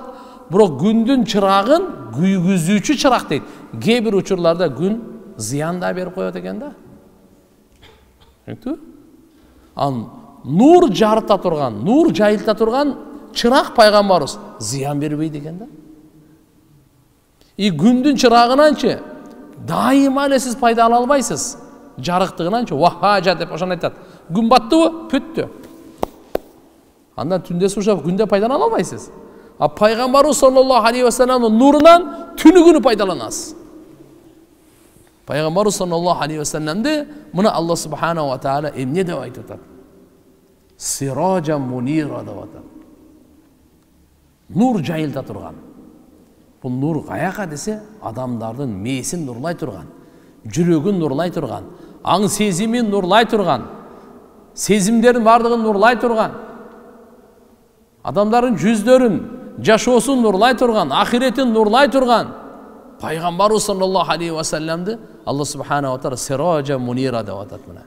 Бирок күндүн чырагын күйгүзүүчү чырак дейт. Кээ бир учурларда күн зыян да берип коет экен да. Нур жарыта турган, нур жайылта турган чырак пайгамбарыбыз зыян бербейт экен да. Күндүн чырагынанчы дайыма эле сиз пайда ала албайсыз. Жарыктыгынанчы вахажа деп ошону айтат. Күн баттыбы? Бүттү. Андан түндө сушап күндө пайдалана албайсыз. Пайгамбарыбыз саллаллаху алейхи ва салламдын нурунан түнү күнү пайдаланасыз. Пайгамбарыбыз саллаллаху алейхи ва салламды мына Алла субханаху ва таала эмне деп айтып атат? Сирожа мунира деп атат. Нур жайылта турган. Бул нур каяка десе, адамдардын мээсин нурлай турган, жүрөгүн нурлай турган, аң сезимин нурлай турган, сезимдердин бардыгын нурлай турган, адамдардын жүздөрүн, жашоосун нурлай турган, ахиретин нурлай турган пайгамбарыбыз саллаллаху алейхи ва салламды Алла субханаху ва таала сирожа мунира деп атат мына.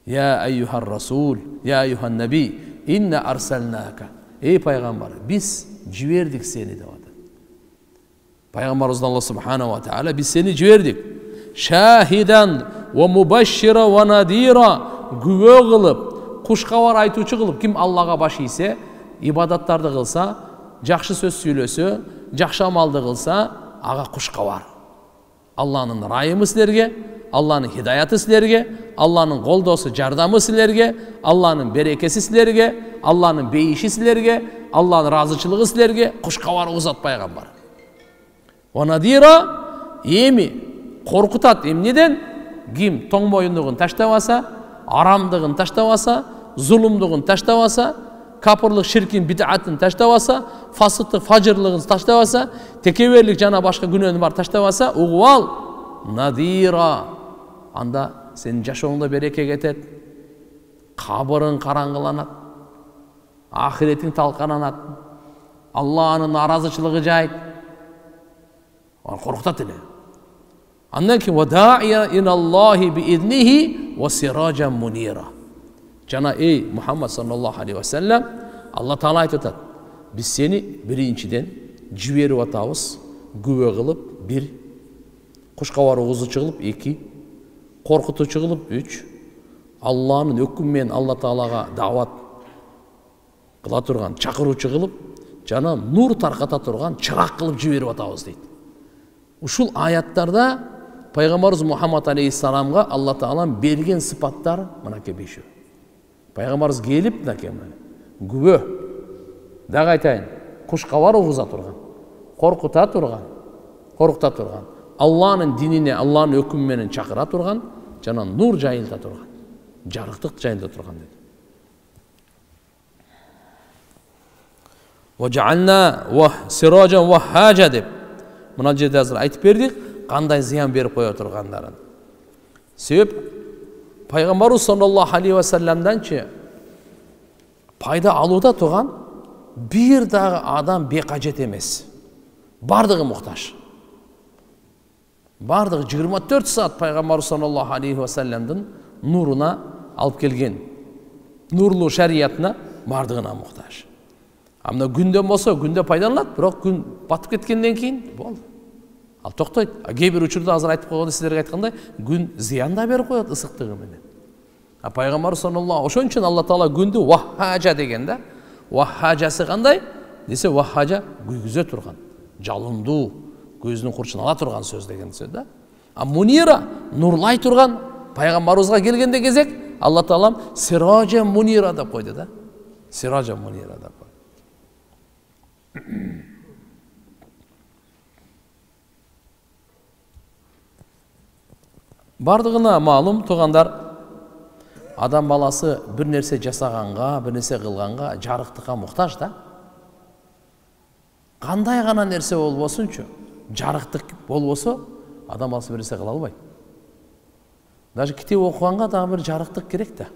Я айюхар расул, я айюхан наби, инна арсалнака. Эй пайгамбар, биз жибердик сени деп атат. Пайгамбарыбыз Алла субханаху ва таала биз сени жибердик. Шахидан ва мубашшира ва надира, күбө кылып, куш кабар айтуучу кылып, ким Аллага баш ийсе, ибадаттарды кылса, жакшы сөз сүйлөсө, жакшы амалды кылса, ага куш кабар. Алланын райымы силерге, Алланын хидаяты силерге, Алланын колдоосу, жардамы силерге, Алланын берекеси силерге, Алланын бейиши силерге, Алланын разычылыгы силерге, куш кабар узат пайгамбар. Ва надира, эми коркутат эмнеден? Ким тоң моюндугун таштабаса, арамдыгын таштабаса, зулумдугун таштабаса, капырлык, ширкин, бид'атын таштабаса, фасыктык, фажырлыгын таштабаса, текеберлик жана башка күнөөнү бар таштабаса, угуп ал, надира. Анда сенин жашооңдо береке кетет, кабырың караңгыланат, ахиретиң талкананат, Аллахнын наразычылыгы жайт. Коркутат эле. Андан кийин вадаия иналлахи биизнихи ва сиражан мунира. Жана эй Мухаммад саллаллаху алейхи ва саллям, Алла Таала айтып атат: биз сени биринчиден жиберип атабыз, күбө кылып, 1, кушкабар угузучу кылып, 2, коркутуучу кылып, 3, Аллахнын өкүмү менен Алла Таалага дават кыла турган чакыруучу кылып, жана нур тарката турган чырак кылып жиберип атабыз дейт. Ушул аяттарда пайгамбарыбыз Мухаммад алейхиссаламга Алла Таалам берген сыпаттар мынакей 5. Пайгамбарыбыз келип мынакей күбө, дагы айтайын, кушкабар угуза турган, коркута турган, Аллахнын динине, Аллахнын өкүмү менен чакыра турган, жана нур жайылта турган, жарыктык жайылта турган дейт. Важална ва сиражан ва хажа деп мына жерде азыр айтып бердик, кандай зыян берип кое тургандарын. Себеп пайгамбарыбыз саллаллаху алейхи ва салламданчы пайда алууда турган бир дагы адам бекажет эмес. Бардыгы муктаж. Бардыгы 24 саат пайгамбарыбыз саллаллаху алейхи ва салламдын нуруна алып келген, нурлуу шариятына бардыгына муктаж. Амна күндөн болсо күндө пайдаланат, бирок күн батып кеткенден кийин болду. Ал токтойт. Кээ бир учурда азыр айтып койгондой, силерге айткандай, күн зыян да берип коет ысыктыгы менен. Пайгамбар саллаллаху ошон үчүн Алла Таала күндү ваххажа деген да. Ваххажасы кандай? Десе ваххажа күйгүзө турган, жалындуу, көздүн курчун ала турган сөз деген сөз да. Мунира нурлай турган, пайгамбарыбызга келгенде кезек Алла Таалам сиража мунира деп койду да. Сиража мунира деп койду. Бардыгына маалым тугандар, адам баласы бир нерсе жасаганга, бир нерсе кылганга жарыктыкка муктаж да. Кандай гана нерсе болбосунчу, жарыктык болбосо адам баласы бир нерсе кыла албайт. Даже китеп окуганга дагы бир жарыктык керек да.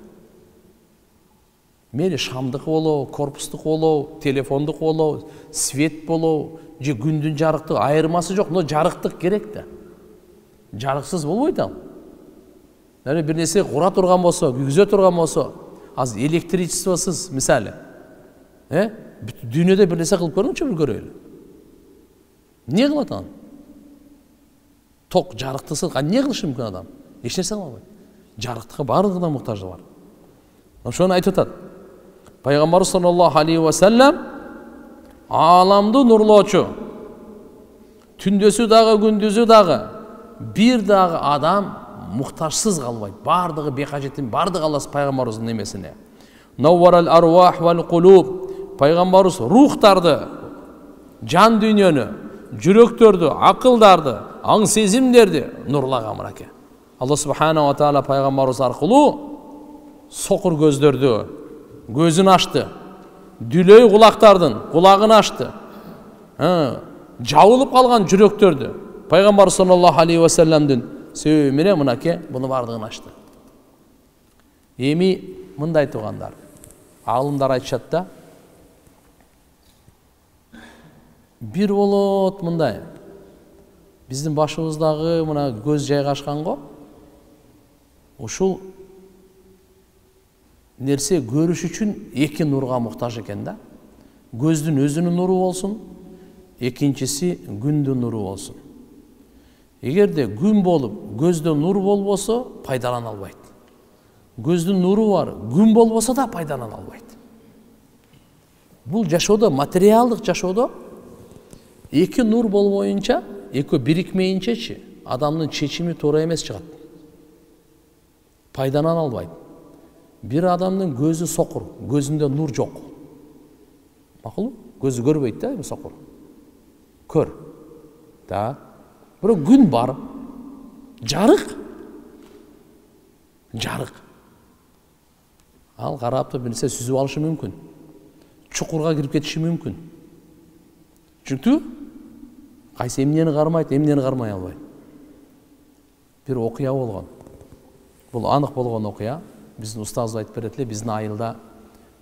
Мейли шамдык болобу, корпустук болобу, телефондук болобу, свет болобу, же күндүн жарыктыгы айырмасы жок, но жарыктык керек да. Жарыксыз болбойт ал. Бир нерсе кура турган болсо, күйгүзө турган болсо, азыр электричествосуз мисалы, дүйнөдө бир нерсе кылып көрүңчү, бир көрөлү. Эмне кылат ал? Ток жарыктысыз, эмне кылышы мүмкүн адам? Эч нерсе кыла албайт. Жарыктыкка бардыгына муктажы бар. Ошону айтып атат. Пайгамбар саллаллаху алейхи ва саллям аламды нурлоочу, түндөсү дагы, күндүзү дагы бир дагы адам муктажсыз калбайт. Бардыгы бекажеттин, бардыгы Алла пайгамбарыбыздын немесине. Навварал арвах вал кулуб. Пайгамбарыбыз рухтарды, жан дүйнөнү, жүрөктөрдү, акылдарды, аң сезимдерди нурлаган мыраке. Алла субхана ва таала пайгамбарыбыз аркылуу сокур көздөрдү көзүн ачты, дүлөй кулактардын кулагын ачты, жабылып калган жүрөктөрдү пайгамбар саллаллаху алейхи ва салламдын себеби менен мынаке буну бардыгын ачты. Эми мындай тугандар, аалымдар айтышат да, бир болот мындай, биздин башыбыздагы мына көз жайгашканго, ушул нерсе көрүш үчүн эки нурга муктаж экен да. Көздүн өзүнүн нуру болсун, экинчиси күндүн нуру болсун. Эгерде күн болуп, көздө нур болбосо, пайдалана албайт. Көздүн нуру бар, күн болбосо да пайдалана албайт. Бул жашоодо, материалдык жашоодо эки нур болбоюнча, экөө бирикмейинчечи, адамдын чечими туура эмес чыгат. Пайдалана албайт. Бир адамдын көзү сокур, көзүндө нур жок. Макул? Көзү көрбөйт да, сокур. Көр. Да. Бирок күн бар. Жарык. Жарык. Ал карапты бир нерсе сүзүп алышы мүмкүн. Чукурга кирип кетиши мүмкүн. Чүнктү кайсы эмнени кармайт, эмнени кармай албайт. бир окуя болгон. Бул анык болгон окуя. Биздин устаз айтып берет эле, биздин айылда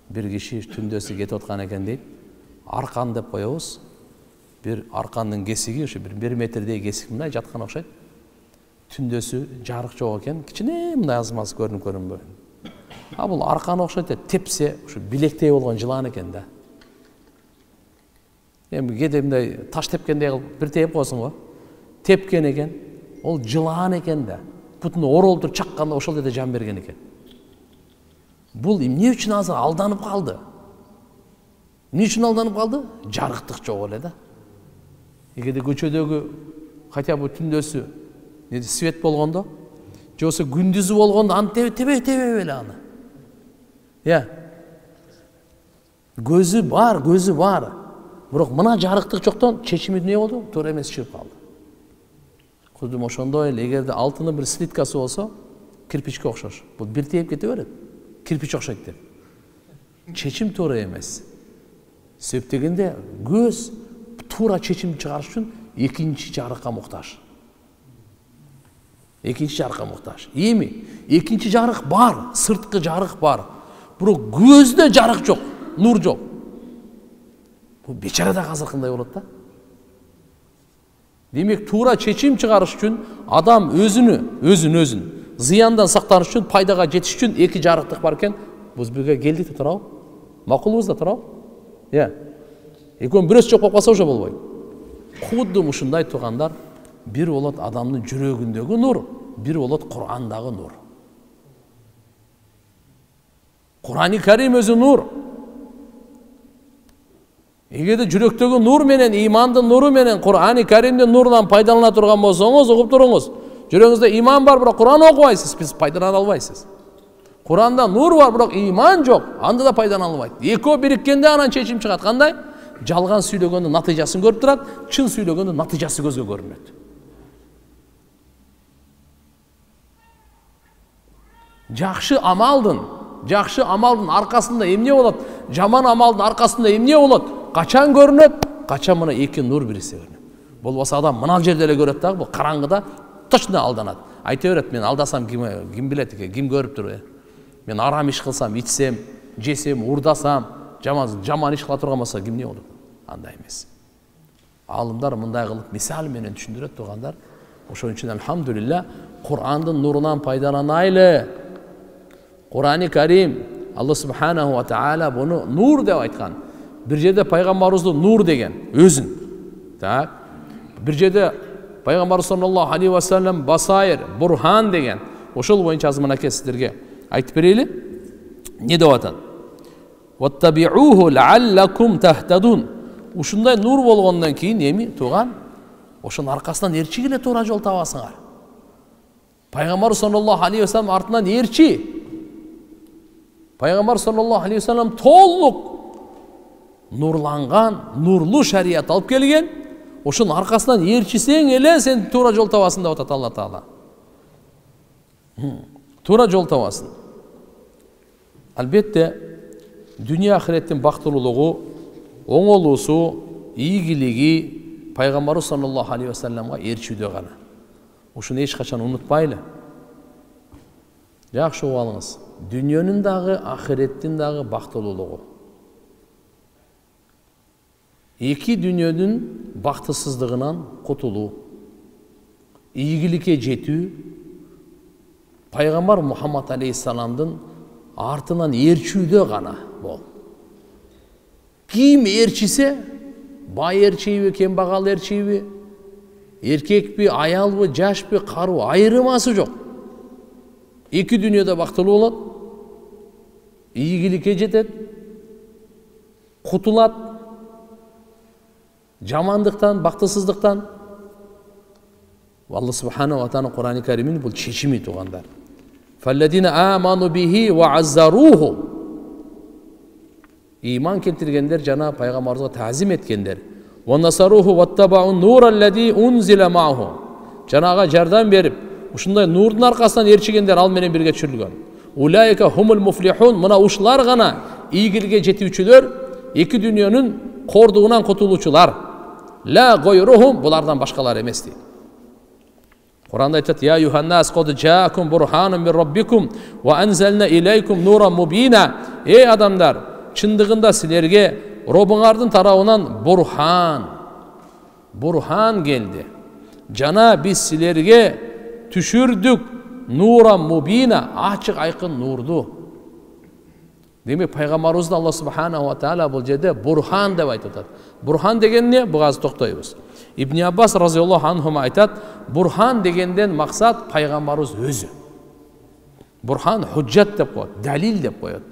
бир киши түндөсү кетип аткан экен дейт. Аркан деп коебуз. Бир аркандын кесиги ушу 1 метрдей кесик мындай жаткан окшойт. Түндөсү жарык жок экен, кичине мындай азмасы көрүнбөй. А бул аркан окшойт, тепсе ушу билектей болгон жылан экен да. Эми кээде мындай таш тепкендей кылып бир теп койсуң го. Тепкен экен, ол жылан экен да. Бутуну оролтуп чакканда ошол жерде жан берген экен. Бул эмне үчүн азыр алданып калды? Эмне үчүн алданып калды? Жарыктык жок эле да. Эгерде көчөдөгү хотя бы түндөсү свет болгондо, же болсо күндүзү болгондо аны тебе эле аны. Көзү бар. Бирок мына жарыктык жоктон чечими эмне болду? Туура эмес чыгып калды. Кудум ошондой эле эгерде алтындын бир слиткасы болсо, кирпичке окшош. Бул бир тээп кете берет. Кирпич окшойт деп. Чечим туура эмес. Себеп дегенде көз туура чечим чыгарыш үчүн экинчи жарыкка муктаж. Эми экинчи жарык бар, сырткы жарык бар. Бирок көздө жарык жок, нур жок. Бул бечарада азыр кандай болот да? Демек туура чечим чыгарыш үчүн адам өзүн зыяндан сактаныш үчүн, пайдага жетиш үчүн эки жарыктык бар экен. Бул бирге келдик да турабы? Макулбуз да турабы? Экөөнүн бирөөсү жок болуп калса уже болбойт. Кудум ушундай туугандар, бир болот адамдын жүрөгүндөгү нур, бир болот Кур'андагы нур. Кур'ани Карим өзү нур. Эгерде жүрөктөгү нур менен, имандын нуру менен, Кур'ани Каримдин нурунан пайдалана турган болсоңуз, угуп туруңуз. Жүрөгүңүздө иман бар, бирок Кур'ан окубайсыз, биз пайдалана албайсыз. Кур'анда нур бар, бирок иман жок, анда да пайдалана албайт. Экөө бириккенде анан чечим чыгат. Кандай? Жалган сүйлөгөндүн натыйжасын көрүп турат, чын сүйлөгөндүн натыйжасы көзгө көрүнөт. Жакшы амалдын аркасында эмне болот? Жаман амалдын аркасында эмне болот? Качан көрүнөт? Качан мына эки нур бирисе көрүнөт. Болбосо адам мына жерде эле көрөт дагы, бул караңгыда точно алданат. Айта берет, мен алдасам ким билет экен, ким көрүп тур. Мен арам иш кылсам, ичсем, жесем, урдасам, жаман иш кыла турган болсо кимне болот? Андай эмес. Алымдар мындай кылып мисал менен түшүндүрөт тургандар. Ошон үчүн алхамдулилла Кур'андын нурунан пайдаланайлы. Кур'ани Карим Алла субханаху ва таала буну нур деп айткан. Бир жерде пайгамбарыбызды нур деген өзүн. Так. Бир жерде пайгамбар саллаллаху алейхи ва саллям басайыр, бурхан деген. Ошол боюнча азыр мынакей сиздерге айтып берели. Не деп атат? Ваттабиуху лааллакум тахтадун. Ушундай нур болгондон кийин эми тууган, ошонун аркасынан эрчи эле туура жол табасыңар. Пайгамбар саллаллаху алейхи ва саллям артынан эрчи. Пайгамбар саллаллаху алейхи ва саллям толук нурланган, нурлуу шарият алып келген. Ошонун аркасынан эрчисең эле сен туура жол табасың деп атат Алла Таала. Туура жол табасың. Албетте дүние ахиреттин бактылуулугу, оңолуусу, ийгилиги пайгамбар саллаллаху алейхи ва салламга эрчүүдө гана. Ушуну эч качан унутпайлы. Жакшы угуп алыңыз. Дүнүйөнүн дагы, ахиреттин дагы бактылуулугу. Эки дүнүйөнүн бактысыздыгынан кутулуу, ийгиликке жетүү, пайгамбар Мухаммад алейхиссаламдын артынан эрчүүдө гана бол. Ким эрчисе, бай эрчийби, кембагал эрчийби, эркекпи, аялбы, жашпы, кару айырмасы жок. Эки дүнүйөдө бактылуу болот, ийгиликке жетет, кутулат, жамандыктан, бактысыздыктан. Алла субханаху ва таала Кур'ани Каримин бул чечими туугандар. Фалладина аману бихи ва аззаруху. Иман келтиргендер жана пайгамбарыбызга таазим эткендер. Ва насаруху ваттабау нураллади унзила мааху. Жанага жардам берип, ушундай нурдун аркасынан эрчигендер ал менен бирге түшүрүлгөн. Улайка хумул муфлихун. Мына ушулар гана ийгиликке жетүүчүлөр, эки дүнүйөнүн кордугунан кутулуучулар. Ла гойрухум, булардан башкалар эмес дейт. Куранда айтат: "Я юханнас код жаакум бурханун мин раббикум ва анзална илейкум нуран мубина." Эй адамдар, чындыгында силерге Робуңардын тарабынан бурхан келди. Жана биз силерге түшүрдүк нуран мубина, ачык айкын нурду. Демек пайгамбарыбызды Алла субханаху ва таала бул жерде бурхан деп айтып атат. Бурхан деген эмне? Буга азыр токтойбуз. Ибн Аббас разияллаху анху айтат, бурхан дегенден максат пайгамбарыбыз өзү. Бурхан худжат деп коет, далил деп коет.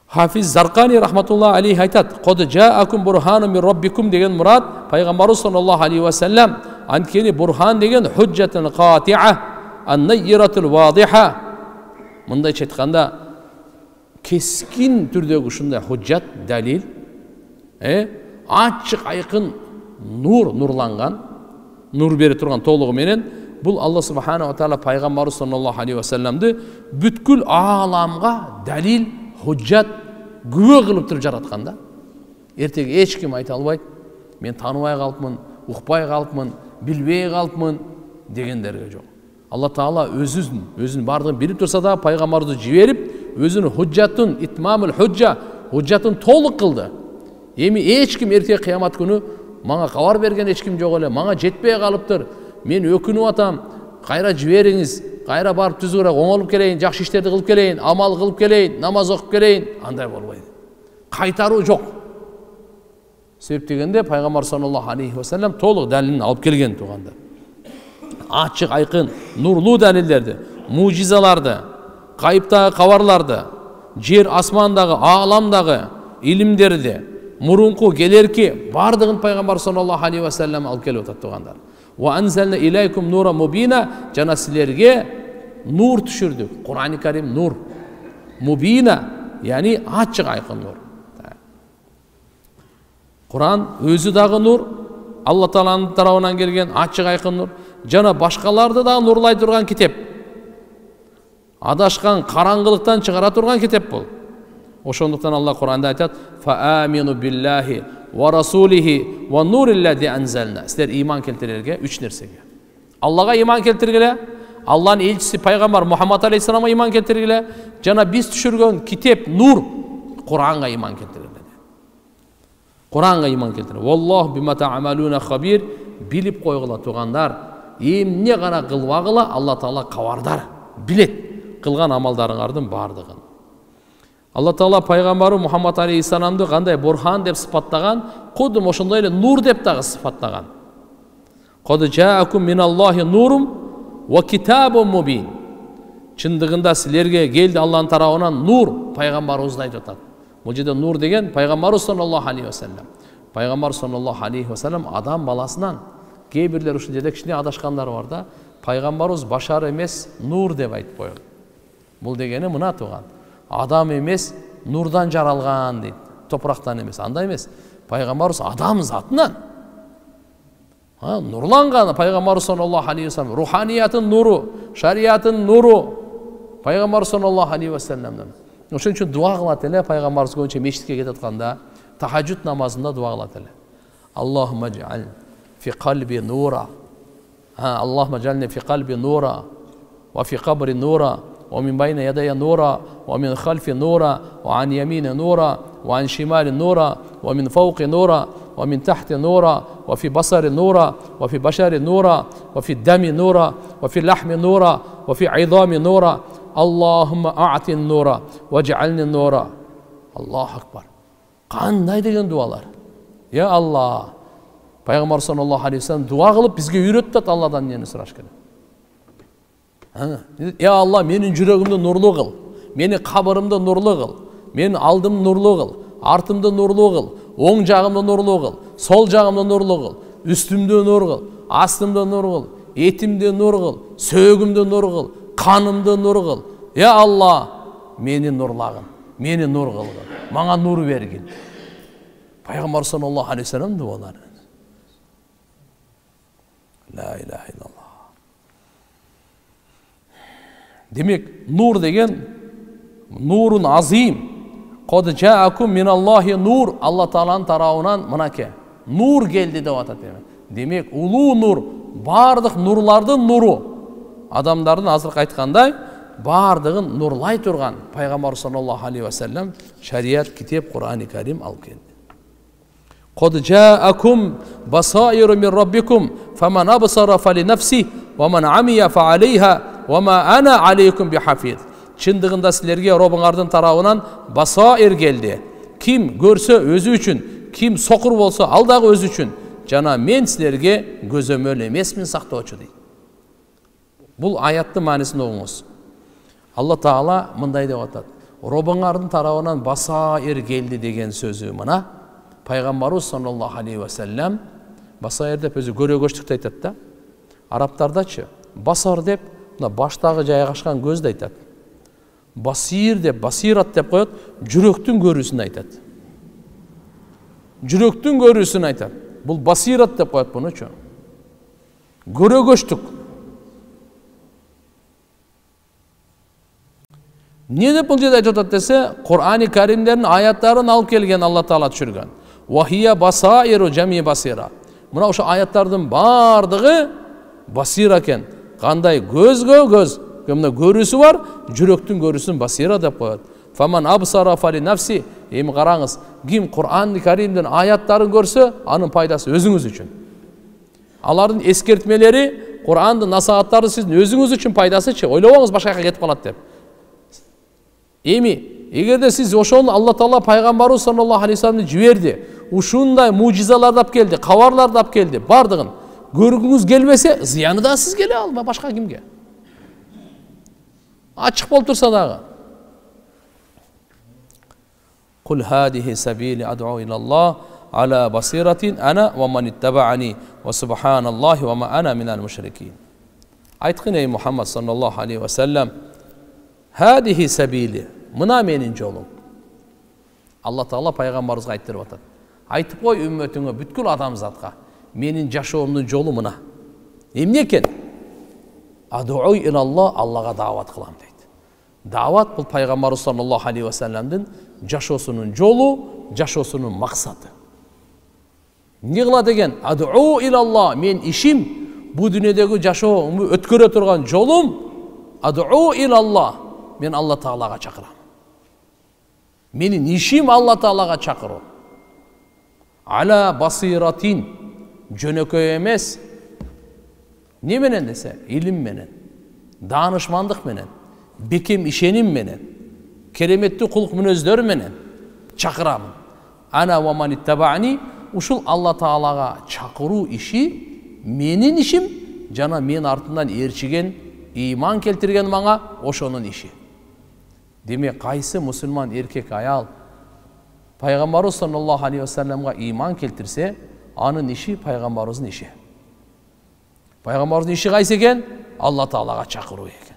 Хафиз Заркани рахматуллаху алейхи айтат: "Код жаакум бурханун мин раббикум" деген мурад пайгамбарыбыз саллаллаху алейхи ва саллям анткени бурхан деген худжатун катиа, ан-найратул вадиха. Мындайча айтканда кескин түрдөгү ушундай худжат, далил, ачык айкын нур, нурланган, нур бере турган толугу менен бул Алла субханаху ва таала пайгамбарыбыз саллаллаху алейхи ва салламды бүткүл ааламга далил, худжат, күбө кылып туруп жараткан да. Эртеги эч ким айта албайт, мен тааныбай калыпмын, укпай калыпмын, билбей калыпмын дегендерге жок. Алла таала өзүнүн бардыгын билип турса да пайгамбарды жиберип, өзүнүн худжатын, итмамул худжа, худжатын толук кылды. Эми эч ким эртеги кыямат күнү мага кабар берген эч ким жок эле, мага жетпей калыптыр, мен өкүнүп атам, кайра жибериңиз, кайра барып түзүгүрөөк оңолуп келейин, жакшы иштерди кылып келейин, амал кылып келейин, намаз окуп келейин, андай болбойт. Кайтаруу жок. Себеп дегенде пайгамбар саллаллаху алейхи ва саллям толук далилин алып келген туугандар. Ачык айкын нурлуу далилдерди, мужизаларды, кайыптагы кабарларды, жер асмандагы, ааламдагы илимдерди, мурунку келерки бардыгын пайгамбар саллаллаху алейхи ва саллям алып келип атат туугандар. Ва анзална илейкум нуран мубина, жана силерге нур түшүрдүк. Кур'ани Карим нур. Мубина, яни ачык айкын нур. Кур'ан өзү дагы нур, Алла тааланын тарабынан келген ачык айкын нур, жана башкаларды да нурлай турган китеп. Адашкан караңгылыктан чыгара турган китеп бул. Ошондуктан Алла Кур'анда айтат: "Фа амину биллахи ва расулихи ва нуриллади анзална." Силер иман келтирерге 3 нерсеге. Аллага иман келтиргиле, Алланын элчиси пайгамбар Мухаммад алейхиссаламга иман келтиргиле, жана биз түшүргөн китеп нур, Кур'анга иман келтиргиле. Кур'анга иман келтиргиле. Валлаху бима та'амалуна хабир. Билип койгула туугандар, эмне гана кылбагыла Алла таала кабардар, билет кылган амалдарыңардын бардыгын. Алла таала пайгамбары Мухаммад алейхиссаламды кандай бурхан деп сыпаттаган, кудум ошондой эле нур деп дагы сыпаттаган. Код жаакум миналлахи нурум ва китабун мубин. Чындыгында силерге келди Алланын тарабынан нур, пайгамбарыбызды айтып атат. Бул жерде нур деген пайгамбарыбыз саллаллаху алейхи ва саллям. Пайгамбар саллаллаху алейхи ва саллям адам баласынан, кээ бирлер ушул жерде кичине адашкандар бар да, пайгамбарыбыз башар эмес, нур деп айтып койгон. Бул дегени мына тууган. Адам эмес, нурдан жаралган дейт. Топурактан эмес, андай эмес. Пайгамбарыбыз адам затынан. Нурланган пайгамбар саллаллаху алейхи ва саллям, руханиятын нуру, шариятын нуру пайгамбар саллаллаху алейхи ва саллямдан. Ошон үчүн дуа кылат эле пайгамбарыбыз көбүнчө мечитке кетип атканда, тахажжуд намазында дуа кылат эле. Аллахумма джал фи қалби нура. Аллахумма джални фи қалби нура ва фи қабри нура ва мин байна ядая нура ва мин халфи нура ва ан ямини нура ва ан шимали нура ва мин фауқи нура ва мин тахти нура ва фи басари нура ва фи башари нура ва фи дами нура ва фи лахми нура ва фи айдами нура. Аллахумма а'ти нура ва джални нура. Аллаху акбар. Кандай деген дуалар. Я Алла. Пайгамбар саллаллаху алейхи ва саллям дуа кылып бизге үйрөттү Алладан эмне сураш керек. Я Алла, менин жүрөгүмдү нурлуу кыл, менин кабырымды нурлуу кыл, менин алдымды нурлуу кыл, артымды нурлуу кыл, оң жагымды нурлуу кыл, сол жагымды нурлуу кыл, үстүмдү нур кыл, астымды нур кыл, этимди нур кыл, сөөгүмдү нур кыл, канымды нур кыл. Я Алла, мени нурлагын, мени нур кылгын, мага нур бергин. Пайгамбар саллаллаху алейхи ва саллям дуалары. Ла илаха иллаллах. Демек, нур деген нурун азим. Код жаакум миналлахи нур, Алла тааланын тарабынан мынаке нур келди деп атат. Демек, улуу нур, бардык нурлардын нуру. Адамдардын азыркы айткандай бардыгын нурлай турган пайгамбар саллаллаху алейхи ва саллям шарият, китеп, Кур'ани Карим алып келди. Qad ja'akum basairu min rabbikum faman absara falinafsi wa man amiya fa alayha wa ma ana alaykum bihafiz. Чындыгында силерге Робуңардын тарабынан басаир келди. Ким көрсө өзү үчүн, ким сокур болсо ал дагы өзү үчүн. Жана мен силерге көзөмөл эмесмин, сактоочу дейт. Бул аяттын маанисин оңуңуз. Алла Таала мындай деп атат. Робуңардын тарабынан басаир келди деген сөзү мына Пайгамбарыбыз саллаллаху алейхи ва саллям басаир деп өзү көрөгөчтүктү айтат да. Арабтардачы басар деп мына баштагы жайгашкан көздү айтат. Басир деп, басират деп коет, жүрөктүн көрүүсүн айтат. Жүрөктүн көрүүсүн айтат. Бул басират деп коет бунучу. Көрөгөчтүк. Не деп бул жерде айтып атат десе, Кур'ани Каримдердин аяттарын алып келген Алла Таала түшүргөн. Вахия басаиру жами басира. Мына ошо аяттардын бардыгы басира экен. Кандай көзгө көз, мына көрүүсү бар, жүрөктүн көрүүсүн басира деп коет. Фаман абсара фали нафси. Эми караңыз, ким Кур'ан Каримдин аяттарын көрсө, анын пайдасы өзүңүз үчүн. Алардын эскертмелери, Кур'андын насааттары сиздин өзүңүз үчүн пайдасычы, ойлобоңуз башка жака кетип калат деп. Эми эгерде сиз ошону Алла Таала пайгамбарыбыз саллаллаху алейхи ва салламды жиберди, ушундай мужизаларды алып келди, кабарларды алып келди, бардыгын көргүңүз келбесе, зыяны да сизге эле алба, башка кимге? Ачык болуп турса дагы. Кул хадихи сабили ад'у илаллах ala basiratin ana wa man ittaba'ani wa subhanallahi wa ma ana minal mushrikin. Aytqın ey Muhammed sallallahu aleyhi ve sellem, hadihi sabili, mına menin jolum. Allah Taala пайгамбарыбызга aytırıp atat. Aytıp koy ümmetine, бүткүл адамзатка, menin жашоомдун жолу мына. Эмне экен? Ад'у илаллах, Аллага даават кылам дейт. Даават бул пайгамбарыбыз саллаллаху алейхи ва салламдын жашоосунун жолу, жашоосунун максаты. Не кылат экен? Ад'у илаллах, мен ишим, бу дүйнөдөгү жашоомду өткөрө турган жолум, ад'у илаллах, мен Алла Таалага чакырам. Менин ишим Алла Таалага чакыруу. Ала басиратин, жөнөкөй эмес. Не менен десе, илим менен, даанышмандык менен, бекем ишеним менен, кереметтүү кулк мүнөздөр менен чакырам. Ана ва ман иттабаани, ушул Алла Таалага чакыруу иши менин ишим, жана мен артынан ээрчиген, ыйман келтирген мага ошонун иши. Демек, кайсы мусулман эркек аял пайгамбарыбыз саллаллаху алейхи ва салламга ыйман келтирсе, анын иши пайгамбарыбыздын иши. Пайгамбарыбыздын иши кайсы экен? Алла Таалага чакыруу экен.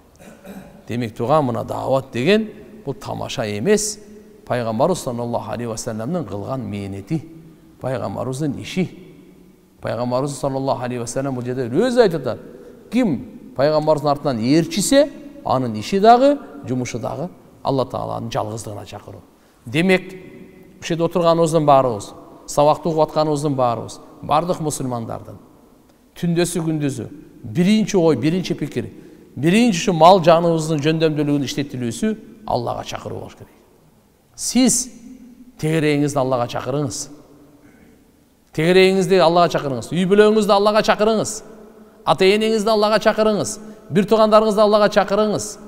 Демек, туган мына даават деген бул тамаша эмес, пайгамбарыбыз саллаллаху алейхи ва салламдын кылган мээнети, пайгамбарыбыздын иши. Пайгамбарыбыз саллаллаху алейхи ва саллам бул жерде өзү айтып атат. Ким пайгамбарыбыздын артынан ээрчисе, анын иши дагы, жумушу дагы Алла Тааланын жалгыздыгына чакыруу. Демек, ушул жерде отурганыбыздын баарыбыз, сабакты угуп атканыбыздын баарыбыз, бардык мусулмандардын түндөсү күндүзү биринчи ой, биринчи пикир, биринчи мал жаныбыздын жөндөмдүүлүгүн иштетилүүсү Аллага чакыруу болуш керек. Сиз тегерегиңизди Аллага чакырыңыз. Тегерегиңизди Аллага чакырыңыз. Үй бүлөңүздү Аллага чакырыңыз. Ата-энеңизди Аллага чакырыңыз. Бир туугандарыңызды Аллага чакырыңыз.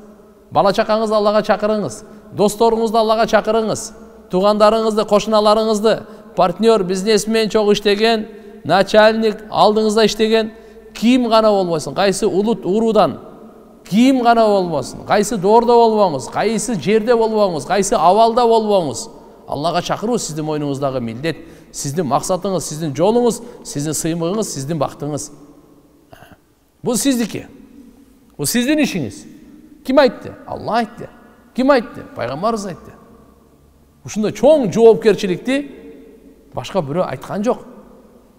Бала чакаңызды Аллага чакырыңыз. Досторуңузду Аллага чакырыңыз. Туугандарыңызды, кошуналарыңызды, партнер, бизнесмен, чогуу иштеген, начальник, алдыңызда иштеген ким гана болбосун, кайсы улут уруудан ким гана болбосун, кайсы доордо болбоңуз, кайсы жерде болбоңуз, кайсы абалда болбоңуз, Аллага чакыруу сиздин мойнуңуздагы милдет, сиздин максатыңыз, сиздин жолуңуз, сиздин сыймыгыңыз, сиздин бактыңыз. Бул сиздики. Бул сиздин ишиңиз. Ким айтты? Алла айтты. Ким айтты? Пайгамбарыбыз айтты. Ушундай чоң жоопкерчиликти башка бирөө айткан жок.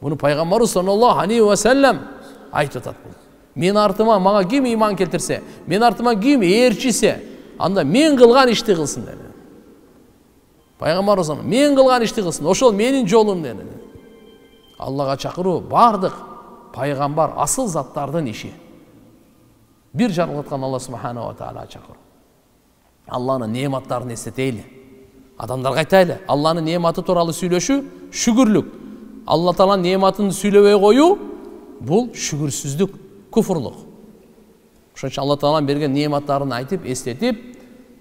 Буну пайгамбарыбыз саллаллаху алейхи ва саллам айтып атат. Мен артыма мага ким ыйман келтирсе, мен артыма ким ээрчисе, анда мен кылган ишти кылсын dedi. Пайгамбарыбыз мен кылган ишти кылсын, ошол менин жолум dedi. Аллага чакыруу бардык пайгамбар асыл заттардын иши. Бир жаралткан Алла субханаху ва таала чакыруу. Алланын неаматтарын эстетейли. Адамдарга айтайлы, Алланын неаматы тууралуу сүйлөшүү шүгүрлүк. Алла тааланын неаматын сүйлөбөй коюу бул шүгүрсүздүк, куфурлук. Ошон үчүн Алла тааланын берген неаматтарын айтып, эстетип,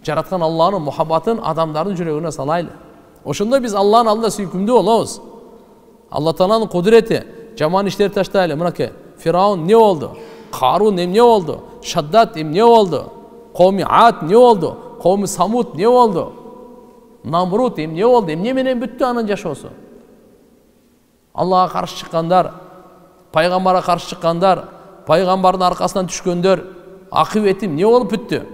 жараткан Алланын мухаббатын адамдардын жүрөгүнө салайлы. Ошондо биз Алланын алдында сүйкүмдүү болобуз. Алла тааланын кудурети, жаман иштерди таштайлы. Мынакей Фираун эмне болду? Карун эмне болду? Шаддат эмне болду? Кауми Ад эмне болду? Кауми Самуд эмне болду? Намрут эмне болду? Эмне менен бүттү анын жашоосу? Аллага каршы чыккандар, пайгамбарга каршы чыккандар, пайгамбардын аркасынан түшкөндөр акыбети эмне болуп бүттү?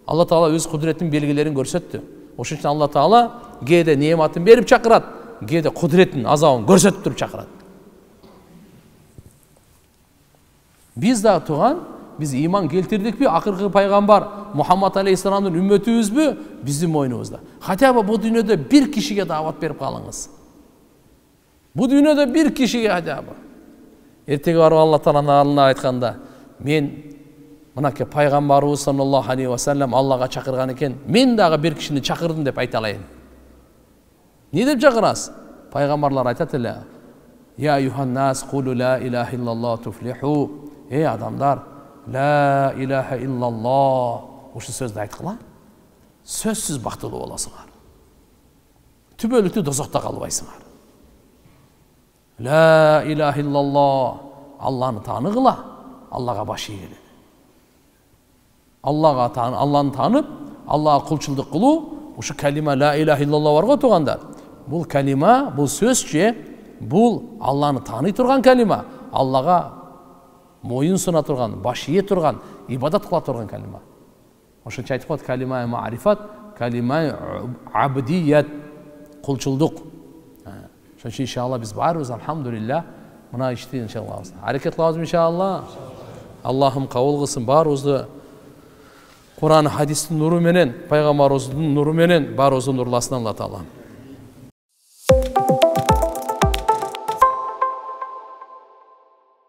Алла таала өз кудуретин белгилерин көрсөттү. Ошон үчүн Алла таала кээде неаматын берип чакырат, кээде кудуретин, азабын көрсөтүп туруп чакырат. Биз да туган, биз иман келтирдикпи? Акыркы пайгамбар Мухаммад алейхиссаламдын үммөтүбүзбү? Биздин мойнубузда. Хотя бы бу дүйнөдө бир кишиге даават берип калыңыз. Бу дүйнөдө бир кишиге хотя бы. Эртеге барып Алла тааланын алдына айтканда, мен мынакей пайгамбарыбыз саллаллаху алейхи ва саллям Аллага чакырган экен, мен дагы бир кишини чакырдым деп айта алайын. Не деп чакырасыз? Пайгамбарлар айтат эле: "Я юханнас кулу ла илаха иллаллах туфлиху." Эй адамдар, ла илаха иллаллах. Ушул сөздү айткыла. Сөзсүз бактылуу болосуңар. Түбөлүктүү дозокто калбайсыңар. Ла илаха иллаллах. Алланы тааныгыла, Аллага баш ийгиле. Алланы таанып, Аллага кулчулдук кылуу, ушу калима ла илаха иллаллах бар го тугандар. Бул калима, бул сөзчө, бул Алланы тааный турган калима, Аллага моюн суна турган, баш ие турган, ибадат кыла турган калима. Ошон үчүн айтып коет калима ма'рифат, калима абдият, кулчулдук. Ошон үчүн иншалла биз баарыбыз алхамдулилlah мына ишти иншалла аракет кылабыз иншалла. Аллахым кабыл кылсын баарыбызды Кур'ан хадистин нуру менен, пайгамбарыбыздын нуру менен баарыбызды нурласын Алла таала.